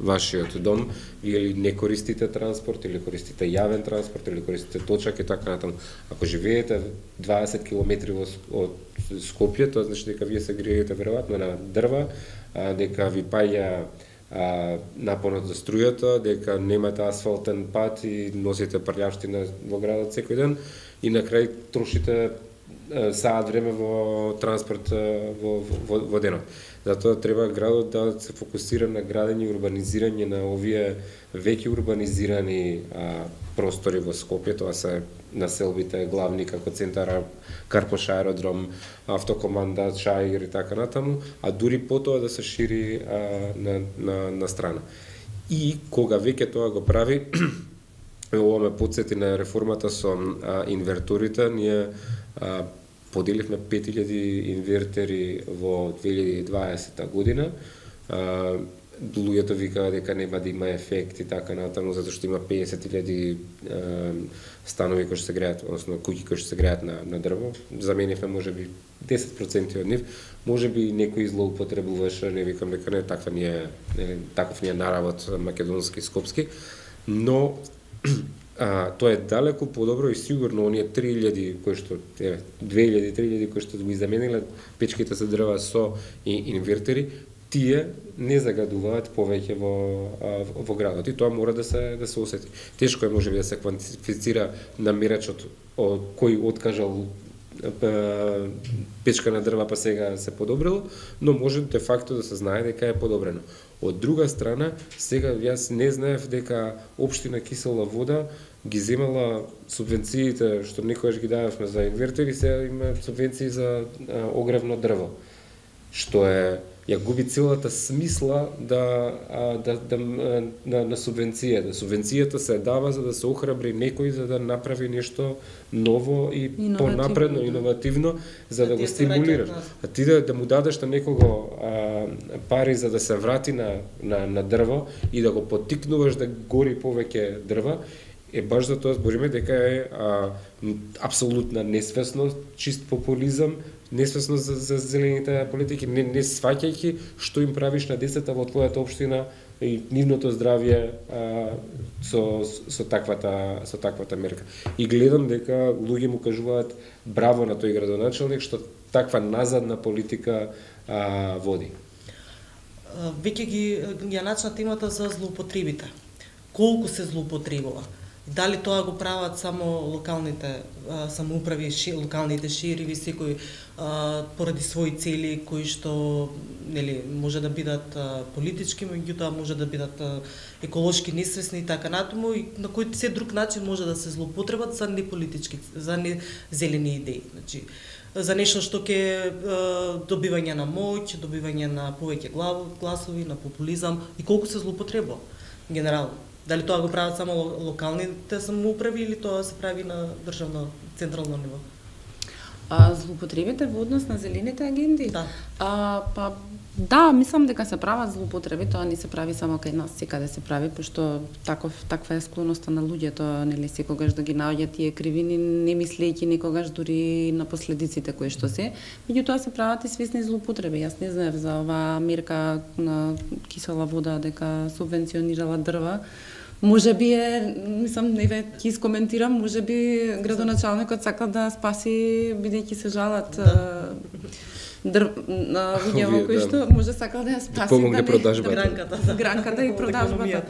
вашиот дом, вие не користите транспорт, или користите јавен транспорт, или користите точак и така натаму. Ако живеете дваесет километри од Скопје, тоа значи дека вие се греете веројатно на дрва, а, дека ви паѓа а, напонот за струјата, дека немате асфалтен пат и носите прљавштина во градот секој ден, и на крај трошите саат време во транспорт во, во, во денот. Затоа треба градот да се фокусира на градење и урбанизирање на овие веќе урбанизирани а, простори во Скопје, тоа се населбите главни како центар, Карпош аеродром, автокоманда, Чаир и така натаму, а дури потоа да се шири а, на, на, на страна. И кога веќе тоа го прави, ова ме потсети на реформата со а, инверторите, ние а, поделивме пет илјади инвертери во две илјади и дваесета година. А, луѓето викаа дека нема да има ефект и така натаму, затоа што има песет илјади станови кои што се греат, односно куќи кои што се греат на, на дрво. Заменивме можеби десет проценти од нив, можеби некој злоупотребуваше, не викам дека не, таква ни е, не, таков ни е наравот македонски, скопски, но А, тоа е далеку подобро и сигурно оние три илјади кои што еве две илјади три илјади кои што ги замениле печките за дрва со и инвертери, тие не загадуваат повеќе во а, во градот, и тоа мора да се да се осети. Тешко е можеби да се квантифицира намерачот од кој откажал печка на дрва па сега се подобрило, но може де факто да се знае дека е подобрено. Од друга страна, сега јас не знаев дека општина Кисела Вода ги земала субвенциите што некогаш ги дававме за инвертери, сега има субвенции за а, огревно дрво, што е ја губи целата смисла да, а, да, да на, на субвенцијата. Субвенцијата се дава за да се охрабри некој за да направи нешто ново и понапредно, да. Иновативно, за да, да го стимулираш. А ти да, да му дадеш на некого а, пари за да се врати на, на, на дрво и да го поттикнуваш да гори повеќе дрва, е баш за тоа збориме дека е а, апсолутна несвесност, чист популизам, несвесност за, за зелените политики, не, не сваќајќи што им правиш на децата во твојата општина и нивното здравје а, со, со, таквата, со таквата мерка. И гледам дека луѓе му кажуваат браво на тој градоначелник што таква назадна политика а, води. Веќе ги ја начна темата за злоупотребите. Колку се злоупотребува? Дали тоа го прават само локалните а, самоуправи, ши, локалните шериви, секој а, поради своји цели кои што нели може да бидат а, политички, меѓутоа може да бидат а, еколошки несвесни и така натаму, и на кој се друг начин може да се злоупотребат за неполитички, за не зелени идеи. Значи, за нешто што ќе добивање на моќ, добивање на повеќе гласови, на популизам, и колку се злоупотребува генерално. Дали тоа го прават само локалните самоуправи или тоа се прави на државно, централно ниво? А, злоупотребите во однос на зелените агенди? Да. А, па, да, мислам дека се прават злоупотреби, тоа не се прави само кај нас, секаде се прави, пошто таков, таква е склоноста на луѓето, нели, секогаш да ги наоѓаат тие кривини, не мислејќи никогаш дури на последиците кои што се. Меѓутоа се прават и свесни злоупотреби. Јас не знаев за оваа мерка на Кисела Вода дека субвенционирала дрва. Може би е, мислам, не ве ќе искоментирам, може би градоначалникот сака да спаси, бидејќи се жалат да. Дрв, на луѓе кои што може сака да ја спаси, помогне да продажбата. Гранката, гранката и продажбата.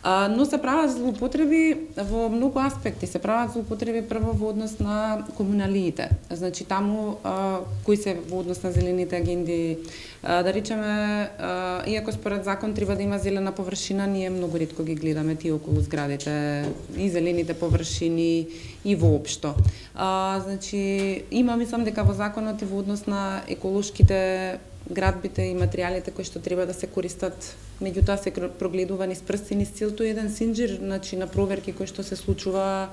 А, но се прават злоупотреби во многу аспекти. Се прават злоупотреби прво во однос на комуналиите. Значи таму а, кои се во однос на зелените агенди, а, да речеме, а, иако според закон треба да има зелена површина, ние многу ретко ги гледаме тие околу зградите и зелените површини и воопшто. А, значи има, мислам дека во законот и во однос на еколошките градбите и материјалите кои што треба да се користат, меѓутоа се прогледува низ прсти, низ целото еден синџир, значи на проверки кои што се случува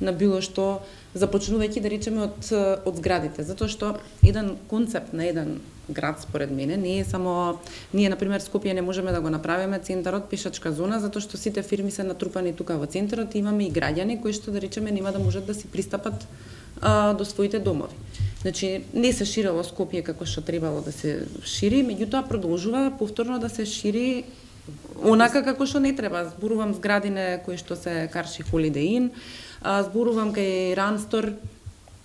на било што, започнувајќи да речеме од од зградите, затоа што еден концепт на еден град според мене не е само ние на пример Скопје не можеме да го направиме центарот пешачка зона затоа што сите фирми се натрупани тука во центарот и имаме и граѓани кои што да речеме нема да можат да си пристапат а, до своите домови. Значи, не се ширело Скопје како што требало да се шири, меѓутоа продолжува повторно да се шири онака како што не треба. Зборувам зградине кои што се Карши Holiday Inn, зборувам кај Ранстор,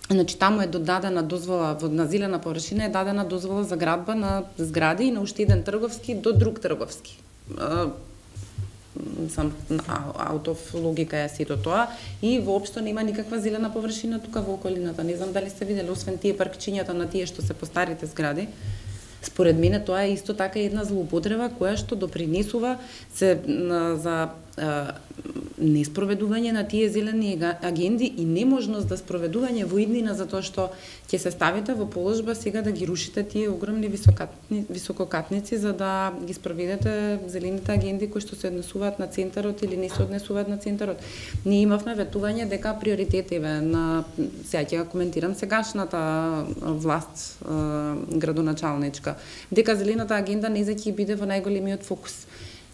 значи таму е додадена дозвола на зелена површина, е дадена дозвола за градба на згради и на уште еден трговски до друг трговски. Сам out of логика е сето тоа и воопшто нема никаква зелена површина тука во околината. Не знам дали сте видели, освен тие паркчињата на тие што се по старите згради. Според мене тоа е исто така една злоупотреба која што допринесува се на, за а, неспроведување на тие зелени агенди и неможност да спроведување во иднина затоа што ќе се ставите во положба сега да ги рушите тие огромни високатни, висококатници за да ги спроведете зелените агенди кои што се однесуваат на центарот или не се однесуваат на центарот. Ние имавме ветување дека приоритетиве на сега ќе коментирам сегашната власт градоначалничка, дека зелената агенда не за ќе биде во најголемиот фокус.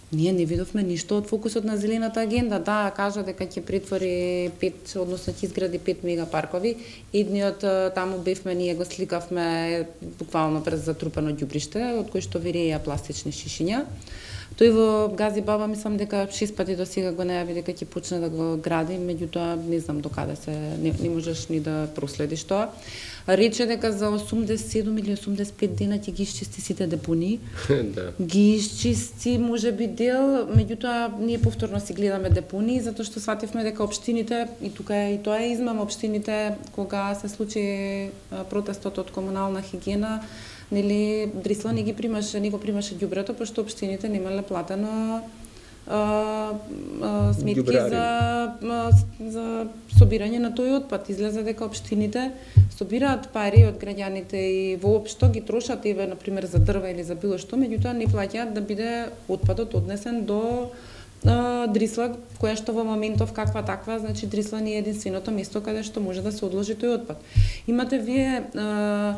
Ние не видовме ништо од фокусот на зелената агенда. Да, кажа дека ќе претвори пет, односно ќе изгради пет мегапаркови. Едниот таму бевме, ние го сликавме буквално през затрупано ѓубриште, од кој што виреја пластични шишиња. Тој во Гази Баба мислам дека шест пати до сега го најави дека ќе почне да го гради, меѓутоа не знам до каде се не, не можеш ни да проследиш тоа. Рече дека за осумдесет и седум или осумдесет и пет дена ќе ги исчисти сите депонии. Да. Ги исчисти можеби дел, меѓутоа ние повторно си гледаме депонии затоа што свативме дека општините и тука е и тоа е измама општините кога се случи протестот од комунална хигиена, нели Дрисла не ги примаше, не го примаше ѓубрето пошто општините немале платено а, а, сметки Ѓубрари. за а, за собирање на тој отпад. Излезе дека општините собираат пари од граѓаните и воопшто ги трошат еве на пример за дрва или за било што, меѓутоа не плаќаат да биде отпадот однесен до а, Дрисла, која што во моментов каква таква, значи Дрисла не е единственото место каде што може да се одложи тој отпад. Имате вие а,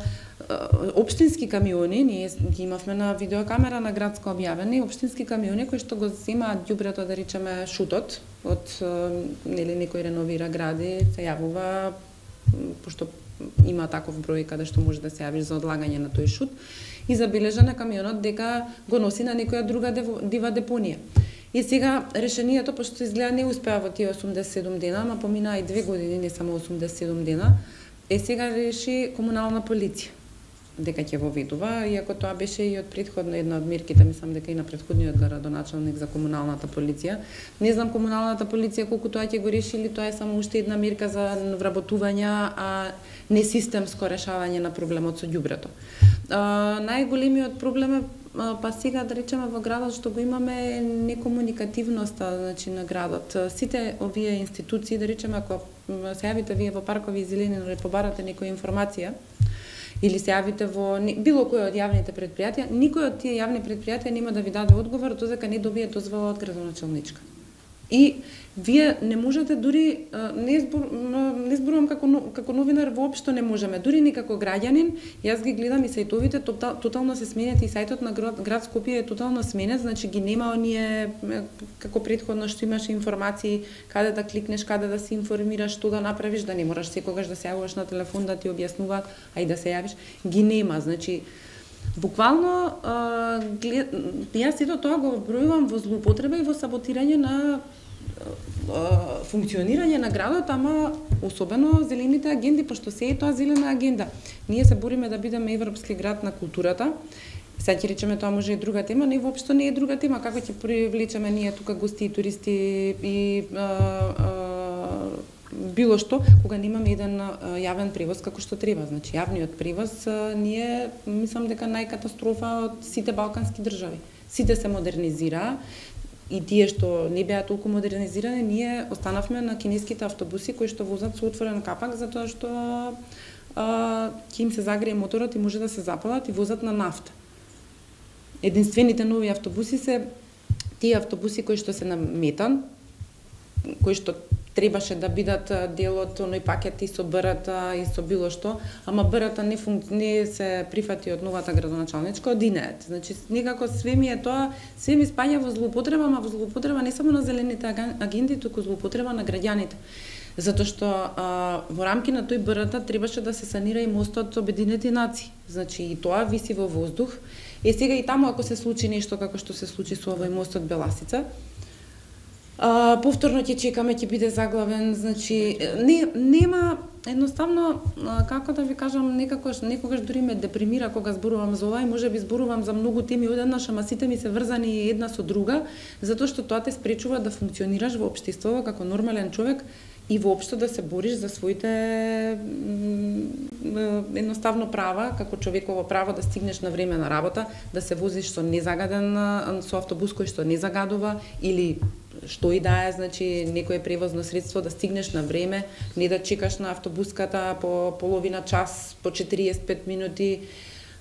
општински камиони, ние ги имавме на видеокамера на градско објавени, општински камиони кои што го земаат ѓубрето, да речеме шутот, од нели некој реновира гради, се јавува пошто има таков број каде што може да се јавиш за одлагање на тој шут и забележа на камионот дека го носи на некоја друга дива депонија. И сега решението, пошто изгледа не успеа во тие осумдесет и седум дена, ама поминаа и две години, не само осумдесет и седум дена, е сега реши комунална полиција дека ќе го ведува, иако тоа беше и од претходно една од мерките, мислам дека и на претходниот градоначалник за комуналната полиција. Не знам комуналната полиција колку тоа ќе го реши или тоа е само уште една мерка за вработување, а не системско решавање на проблемот со ѓубрето. Најголемиот проблем е па сега да речеме во градот што го имаме некомуникативноста, значи на градот. Сите овие институции, да речеме ако се јавите вие во паркови и зелени или побарате некоја информација, или се јавите во било кој од јавните предпријатија, никој од тие јавни предпријатија нема да ви даде одговор додека не добие дозвола од градоначалничка. И вие не можете дури не збор, не зборувам како како новинар, воопшто не можеме, дури ни како граѓанин. Јас ги гледам и сајтовите, тотално се сменет и сајтот на град, град Скопје е тотално сменет, значи ги нема оние како претходно што имаше информации каде да кликнеш, каде да се информираш, што да направиш, да не мораш секогаш да се јавуваш на телефон да ти објаснуваат, а и да се јавиш, ги нема, значи буквално а, глед... јас сето тоа го вбројувам во злоупотреба и во саботирање на а, функционирање на градот, ама особено зелените агенди, пошто се е тоа зелена агенда. Ние се бориме да бидеме европски град на културата. Сега ќе речеме тоа може и друга тема, но воопшто не е друга тема. Како ќе привлечеме ние тука гости и туристи и а, а, било што, кога немаме еден а, јавен превоз како што треба. Значи, јавниот превоз а, ние, мислам дека најкатастрофа од сите балкански држави. Сите се модернизираа и тие што не беа толку модернизирани, ние останавме на кинеските автобуси кои што возат со отворен капак, затоа што а, ќе им се загрее моторот и може да се запалат и возат на нафта. Единствените нови автобуси се тие автобуси кои што се на метан, кои што требаше да бидат дел од оној пакет и со БРТ и со било што, ама БРТ не, функ... не се прифати од новата градоначалничка, од ИНЕЕТ. Значи, некако све ми е тоа, све ми спаѓа во злоупотреба, ама во злоупотреба не само на зелените агенди, туку злоупотреба на граѓаните. Затоа што а, во рамки на тој БРТ требаше да се санира и мостот Обединети нации. Значи, и тоа виси во воздух. Е, сега и таму ако се случи нешто како што се случи со овој мостот Беласица, а, повторно ќе чекаме, ќе биде заглавен, значи не нема едноставно а, како да ви кажам, некако некогаш дури ме депримира кога зборувам за ова и можеби зборувам за многу теми одеднаш, ама сите ми се врзани една со друга, затоа што тоа те спречува да функционираш во општеството како нормален човек и воопшто да се бориш за своите едноставно права, како човеково право да стигнеш на време на работа, да се возиш со незагаден со автобус кој што не загадува или што и да е, значи некое превозно средство да стигнеш на време, не да чекаш на автобуската по половина час, по четириесет и пет минути,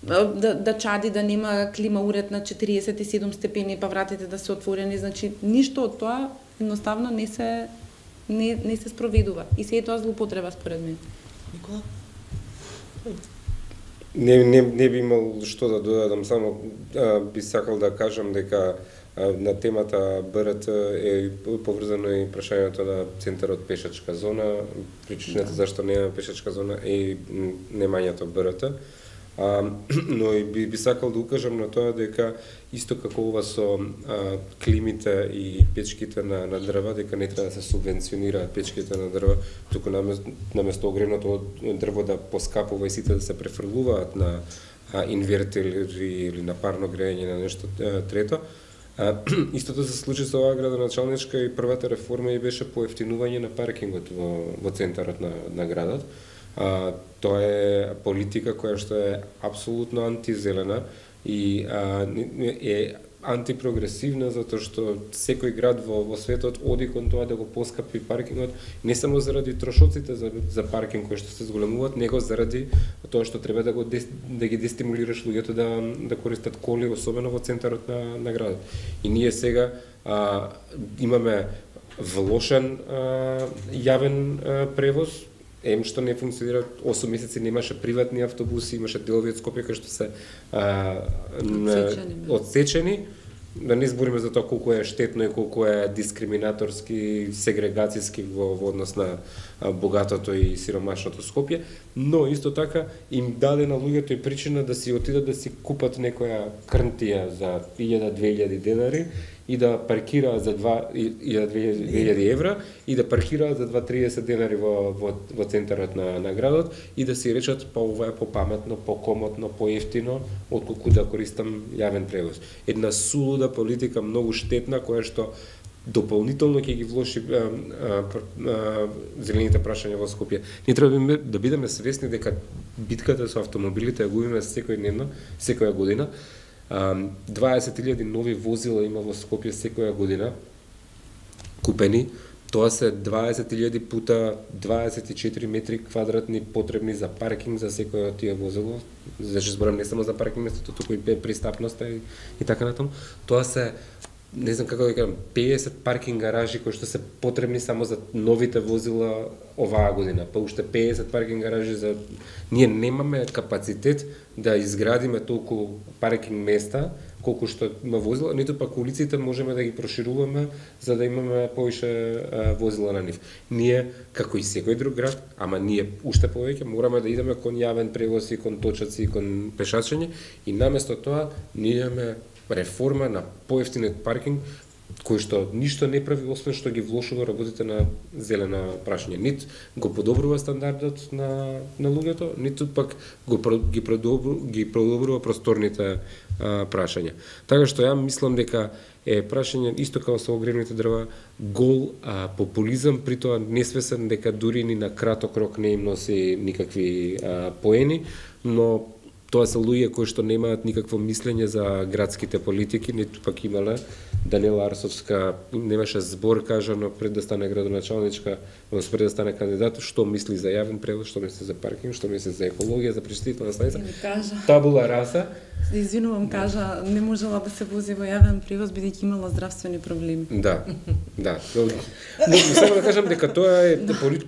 да, да чади, да нема клима уред на четириесет и седум степени, па вратите да се отворени, значи ништо од тоа едноставно не се не не се спроведува и се е тоа злоупотреба според мене. Никола? Не, не, не би имал што да додадам, само а, би сакал да кажам дека а, на темата БРТ е поврзано и прашањето на центарот пешачка зона, причината да. Зашто нема пешачка зона е немањето БРТ. А, но и би, би сакал да укажам на тоа дека исто како ова со а, климите и печките на, на дрва, дека не треба да се субвенционираат печките на дрва, туку наместо, наместо огревното дрво да поскапува и сите да се префрлуваат на а, инвертери или на парно грејење на нешто а, трето. А, истото се случи со оваа градоначалничка и првата реформа и беше поевтинување на паркингот во, во центарот на, на градот. А, тоа е политика која што е апсолутно антизелена и а, е антипрогресивна, затоа што секој град во, во светот оди кон тоа да го поскапи паркингот, не само заради трошоците за, за паркинг кои што се зголемуваат, него заради тоа што треба да го да ги дестимулираш луѓето да да користат коли, особено во центарот на, на градот. И ние сега а, имаме влошен а, јавен а, превоз, ем што не функционира, осум месеци немаше приватни автобуси, имаше делови од Скопје кои што се а, одсечени. Да не збориме за тоа колку е штетно и колку е дискриминаторски, сегрегацијски во, во однос на а, богатото и сиромашното Скопје, но исто така им даде на луѓето и причина да си отидат да си купат некоја крнтија за илјада-две илјади денари и да паркираат за два илјади две илјади евра и да паркираат за два триесет денари во, во, во центарот на, на градот и да си речат па ова е попаметно, покомотно, поевтино отколку да користам јавен превоз. Една сулуда политика, многу штетна, која што дополнително ќе ги влоши а, а, а, зелените прашања во Скопје. Ние треба да бидеме свесни дека битката со автомобилите ја губиме секојдневно, секоја година. дваесет илјади нови возила има во Скопје секоја година купени. Тоа се дваесет илјади пута дваесет и четири метри квадратни потребни за паркинг за секоја од тие возила. Значи зборам не само за паркинг местото, туку и пристапноста и, и така натаму. Тоа се, не знам како да кажам, педесет паркинг гаражи кои што се потребни само за новите возила оваа година. Па уште педесет паркинг гаражи за... Ние немаме капацитет да изградиме толку паркинг места колку што има возила, ниту пак улиците можеме да ги прошируваме за да имаме повише а, возила на нив. Ние, како и секој друг град, ама ние уште повеќе мораме да идеме кон јавен превоз и кон точаци и кон пешачење и наместо тоа ние имаме реформа на поевтинет паркинг кој што ништо не прави освен што ги влошува работите на зелена прашање. Нит го подобрува стандардот на на луѓето, ниту пак го ги продобрува ги продобрува просторните а, прашања. Така што ја мислам дека е прашање исто како со огревните дрва гол а, популизам, при тоа несвесен дека дури ни на краток рок не им носи никакви а, поени, но тоа се луѓе кои што немаат никакво мислење за градските политики, ниту пак имале. Даниела Арсовска немаше збор кажано пред да стане градоначалничка, пред да стане кандидат, што мисли за јавен превоз, што мисли за паркинг, што мисли за екологија, за пречистителна станица. Табула раса. Извинувам, кажа, не можела да се вози во јавен превоз бидејќи имала здравствени проблеми. Да, да. Но само да кажам дека тоа е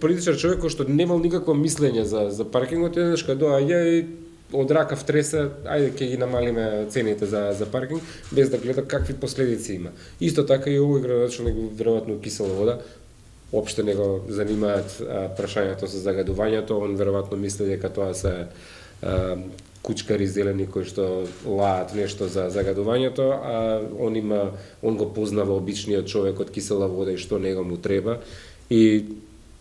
политичар човек кој што немал никакво мислење за за паркингот, еднаш кога доаѓа и од рака втреса, ајде ќе ги намалиме цените за за паркинг без да гледа какви последици има. Исто така и овој градоначалник веројатно кисела вода, опште не го занимаат а, прашањето со загадувањето, он веројатно мисли дека тоа се а, кучкари зелени кои што лаат нешто за загадувањето, а он има он го познава обичниот човек од кисела вода и што него му треба и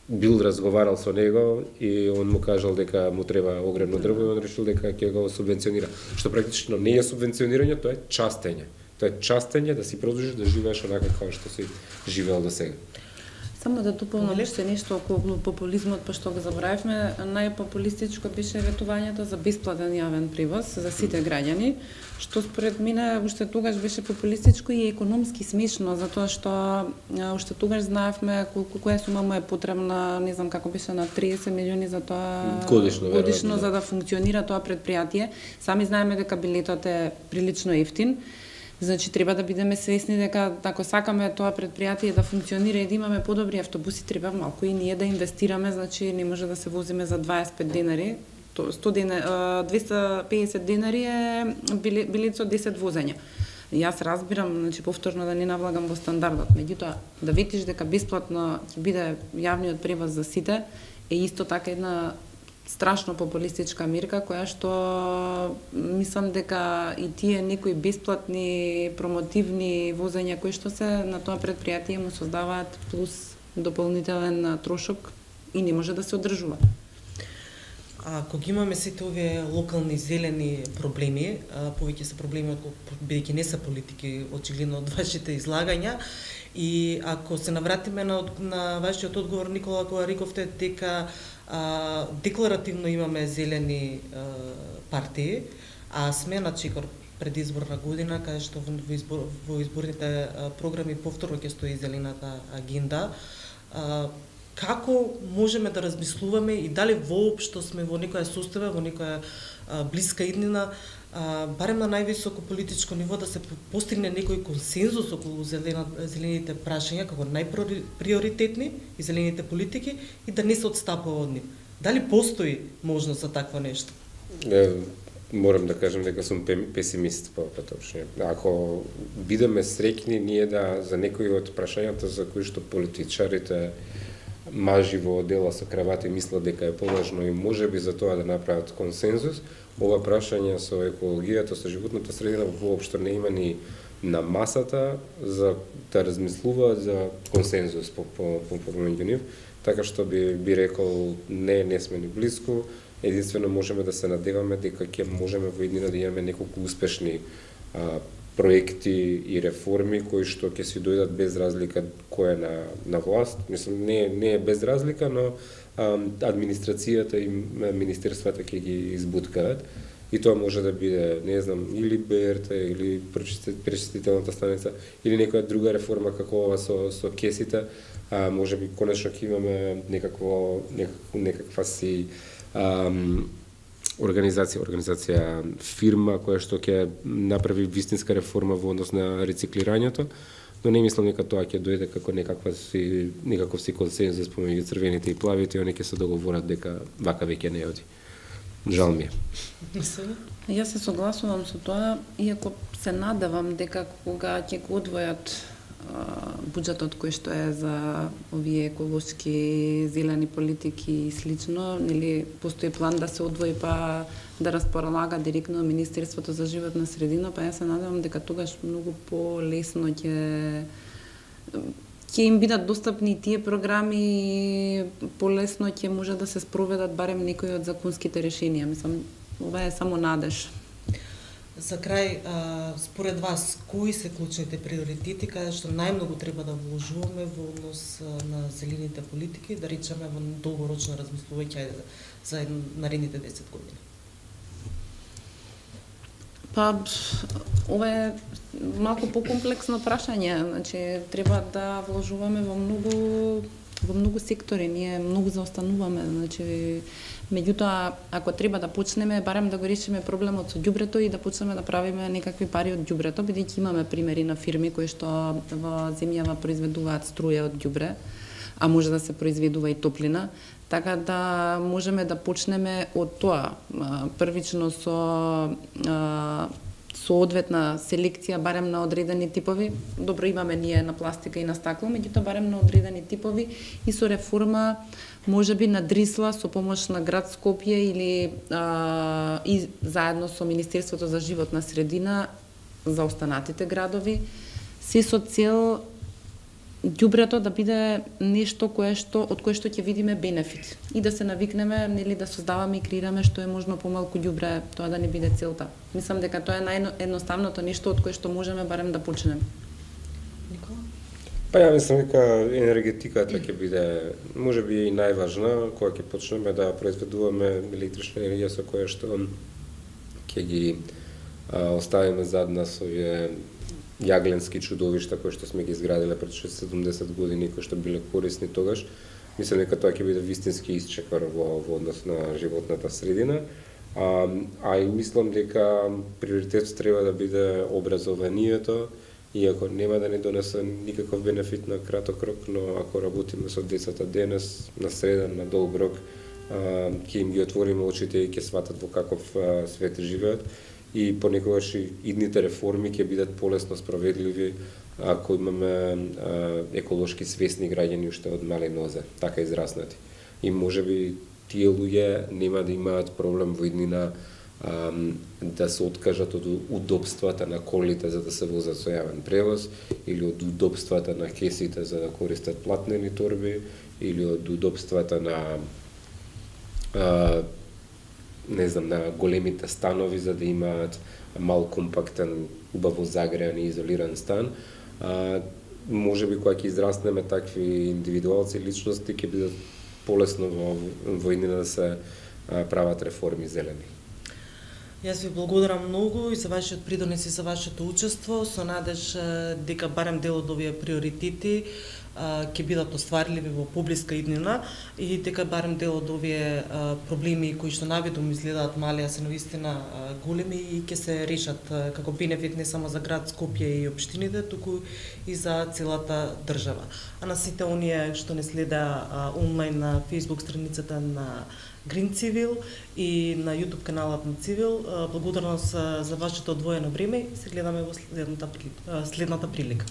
бил разговарал со него и он му кажал дека му треба огревно дрво и он решил дека ќе го субвенционира. Што практично не е субвенционирање, тоа е частење. Тоа е частење да си продолжиш да живееш онака како што си живеел до сега. Само да дополнам уште нешто околу популизмот, па што го заборавивме, најпопулистичко беше ветувањето за бесплатен јавен превоз за сите граѓани, што според мене уште тогаш беше популистичко и економски смешно, затоа што уште тогаш знаевме колку која сума му е потребна, не знам како беше на триесет милиони за тоа годишно, годишно да. За да функционира тоа предпријатие. Сами знаеме дека билетот е прилично ефтин. Значи треба да бидеме свесни дека ако сакаме тоа предпријатие да функционира и да имаме подобри автобуси, треба малку и ние да инвестираме, значи не може да се возиме за дваесет и пет денари. сто денари, двесте и педесет денари е билет со десет возења. Јас разбирам, значи повторно да не навлагам во стандардот, меѓутоа да ветиш дека бесплатно ќе биде јавниот превоз за сите е исто така една страшно популистичка мирка која што мислам дека и тие некои бесплатни промотивни возења кои што се на тоа предпријатие му создаваат плюс дополнителен трошок и не може да се одржува. А кога имаме сите овие локални зелени проблеми, повеќе се проблеми бидејќи не се политики, очигледно од вашите излагања, и ако се навратиме на, на вашиот одговор, Никола, кога рековте дека а, декларативно имаме зелени а, партии, а сме на чекор предизборна година, каде што во, избор, во изборните а, програми повторно ќе стои зелената агенда, а, како можеме да размислуваме и дали воопшто сме во некоја состојба, во некоја а, блиска иднина, а, барем на највисоко политичко ниво да се постигне некој консензус околу зелена, зелените прашања како најприоритетни и зелените политики и да не се отстапува од нив. Дали постои можност за такво нешто? Е, морам да кажам дека сум песимист по поточно. Ако бидеме среќни ние да за некои од прашањата за кои што политичарите мажи во одела со кравати мислат дека е поважно и можеби за тоа да направат консензус, ова прашање со екологијата, со животната средина воопшто не има ни на масата за да размислуваат за консензус по по по помеѓу нив, така што би би рекол не не сме ни блиску. Единствено можеме да се надеваме дека ќе можеме во иднина да имаме неколку успешни а, проекти и реформи кои што ќе си дојдат без разлика кој е на на власт. Мислам не не е без разлика, но а, администрацијата и министерствата ќе ги избуткаат и тоа може да биде, не знам, или БРТ или пречистителната станица или некоја друга реформа како ова со со кесите, а можеби конечно ќе имаме некакво некаква, некаква си ам, организација, организација фирма која што ќе направи вистинска реформа во однос на рециклирањето, но не мислам дека тоа ќе дојде како некаква си некаков си консензус помеѓу црвените и плавите и они ќе се договорат дека вака веќе не оди. Жал ми е. Јас се согласувам со тоа, иако се надевам дека кога ќе го одвојат буџетот кој што е за овие еколошки зелени политики и слично, нели постои план да се одвои па да располага директно Министерството за животна средина, па јас се надевам дека тогаш многу полесно ќе ќе им бидат достапни тие програми и полесно ќе може да се спроведат барем некои од законските решенија. Мислам, ова е само надеж. За крај, а, според вас, кои се клучните приоритети каде што најмногу треба да вложуваме во однос на зелените политики, да речеме во долгорочно размислување за наредните десет години? Па, ова е малку покомплексно прашање, значи треба да вложуваме во многу во многу сектори, ние многу заостануваме, значи меѓутоа ако треба да почнеме барем да го решиме проблемот со ѓубрето и да почнеме да правиме некакви пари од ѓубрето, бидејќи имаме примери на фирми кои што во земјава произведуваат струја од ѓубре, а може да се произведува и топлина, така да можеме да почнеме од тоа, првично со со одветна селекција барем на одредени типови. Добро имаме ние на пластика и на стакло, меѓутоа барем на одредени типови и со реформа можеби на Дрисла со помош на град Скопје или а, и заедно со Министерството за животна средина за останатите градови, се со цел ѓубрето да биде нешто кое што од кое што ќе видиме бенефит и да се навикнеме, нели, да создаваме и креираме што е можно помалку ѓубре, тоа да не биде целта. Мислам дека тоа е наједноставното нешто од кое што можеме барем да почнеме. Никола? Па ја мислам дека енергетиката ќе биде можеби и најважна кога ќе почнеме да произведуваме електрична енергија со која што ќе ги а, оставиме зад нас овие јагленски чудовишта кои што сме ги изградиле пред шесто седумдесет години, кои што биле корисни тогаш. Мислам дека тоа ќе биде вистински исчекор во, во однос на животната средина. А, а и мислам дека приоритет треба да биде образованието, иако нема да не донесе никаков бенефит на краток рок, но ако работиме со децата денес, на среден, на долг рок, ќе им ги отвориме очите и ќе сватат во каков а, свет живеат. И понекогаш и идните реформи ќе бидат полесно справедливи ако имаме а, еколошки свесни граѓани уште од мали нозе, така израснати. И можеби тие луѓе нема да имаат проблем во иднина да се откажат од удобствата на колите за да се возат со јавен превоз, или од удобствата на кесите за да користат платнени торби, или од удобствата на а, не знам, на големите станови за да имаат мал компактен, убаво загреан и изолиран стан. А, може би кога ќе израснеме такви индивидуалци, личности, ќе бидат полесно во во иднина да се а, прават реформи зелени. Јас ви благодарам многу и за вашиот придонес и за вашето учество, со надеж дека барем дел од овие приоритети ќе бидат остварливи во поблиска иднина и дека барем дел од овие проблеми кои што навидом изгледаат мали, а се навистина големи и ќе се решат како бенефит не само за град Скопје и општините, туку и за целата држава. А на сите оние што не следа онлайн на Facebook страницата на Green Civil и на YouTube каналот на Civil, благодарност за вашето одвоено време и се гледаме во следната, следната прилика.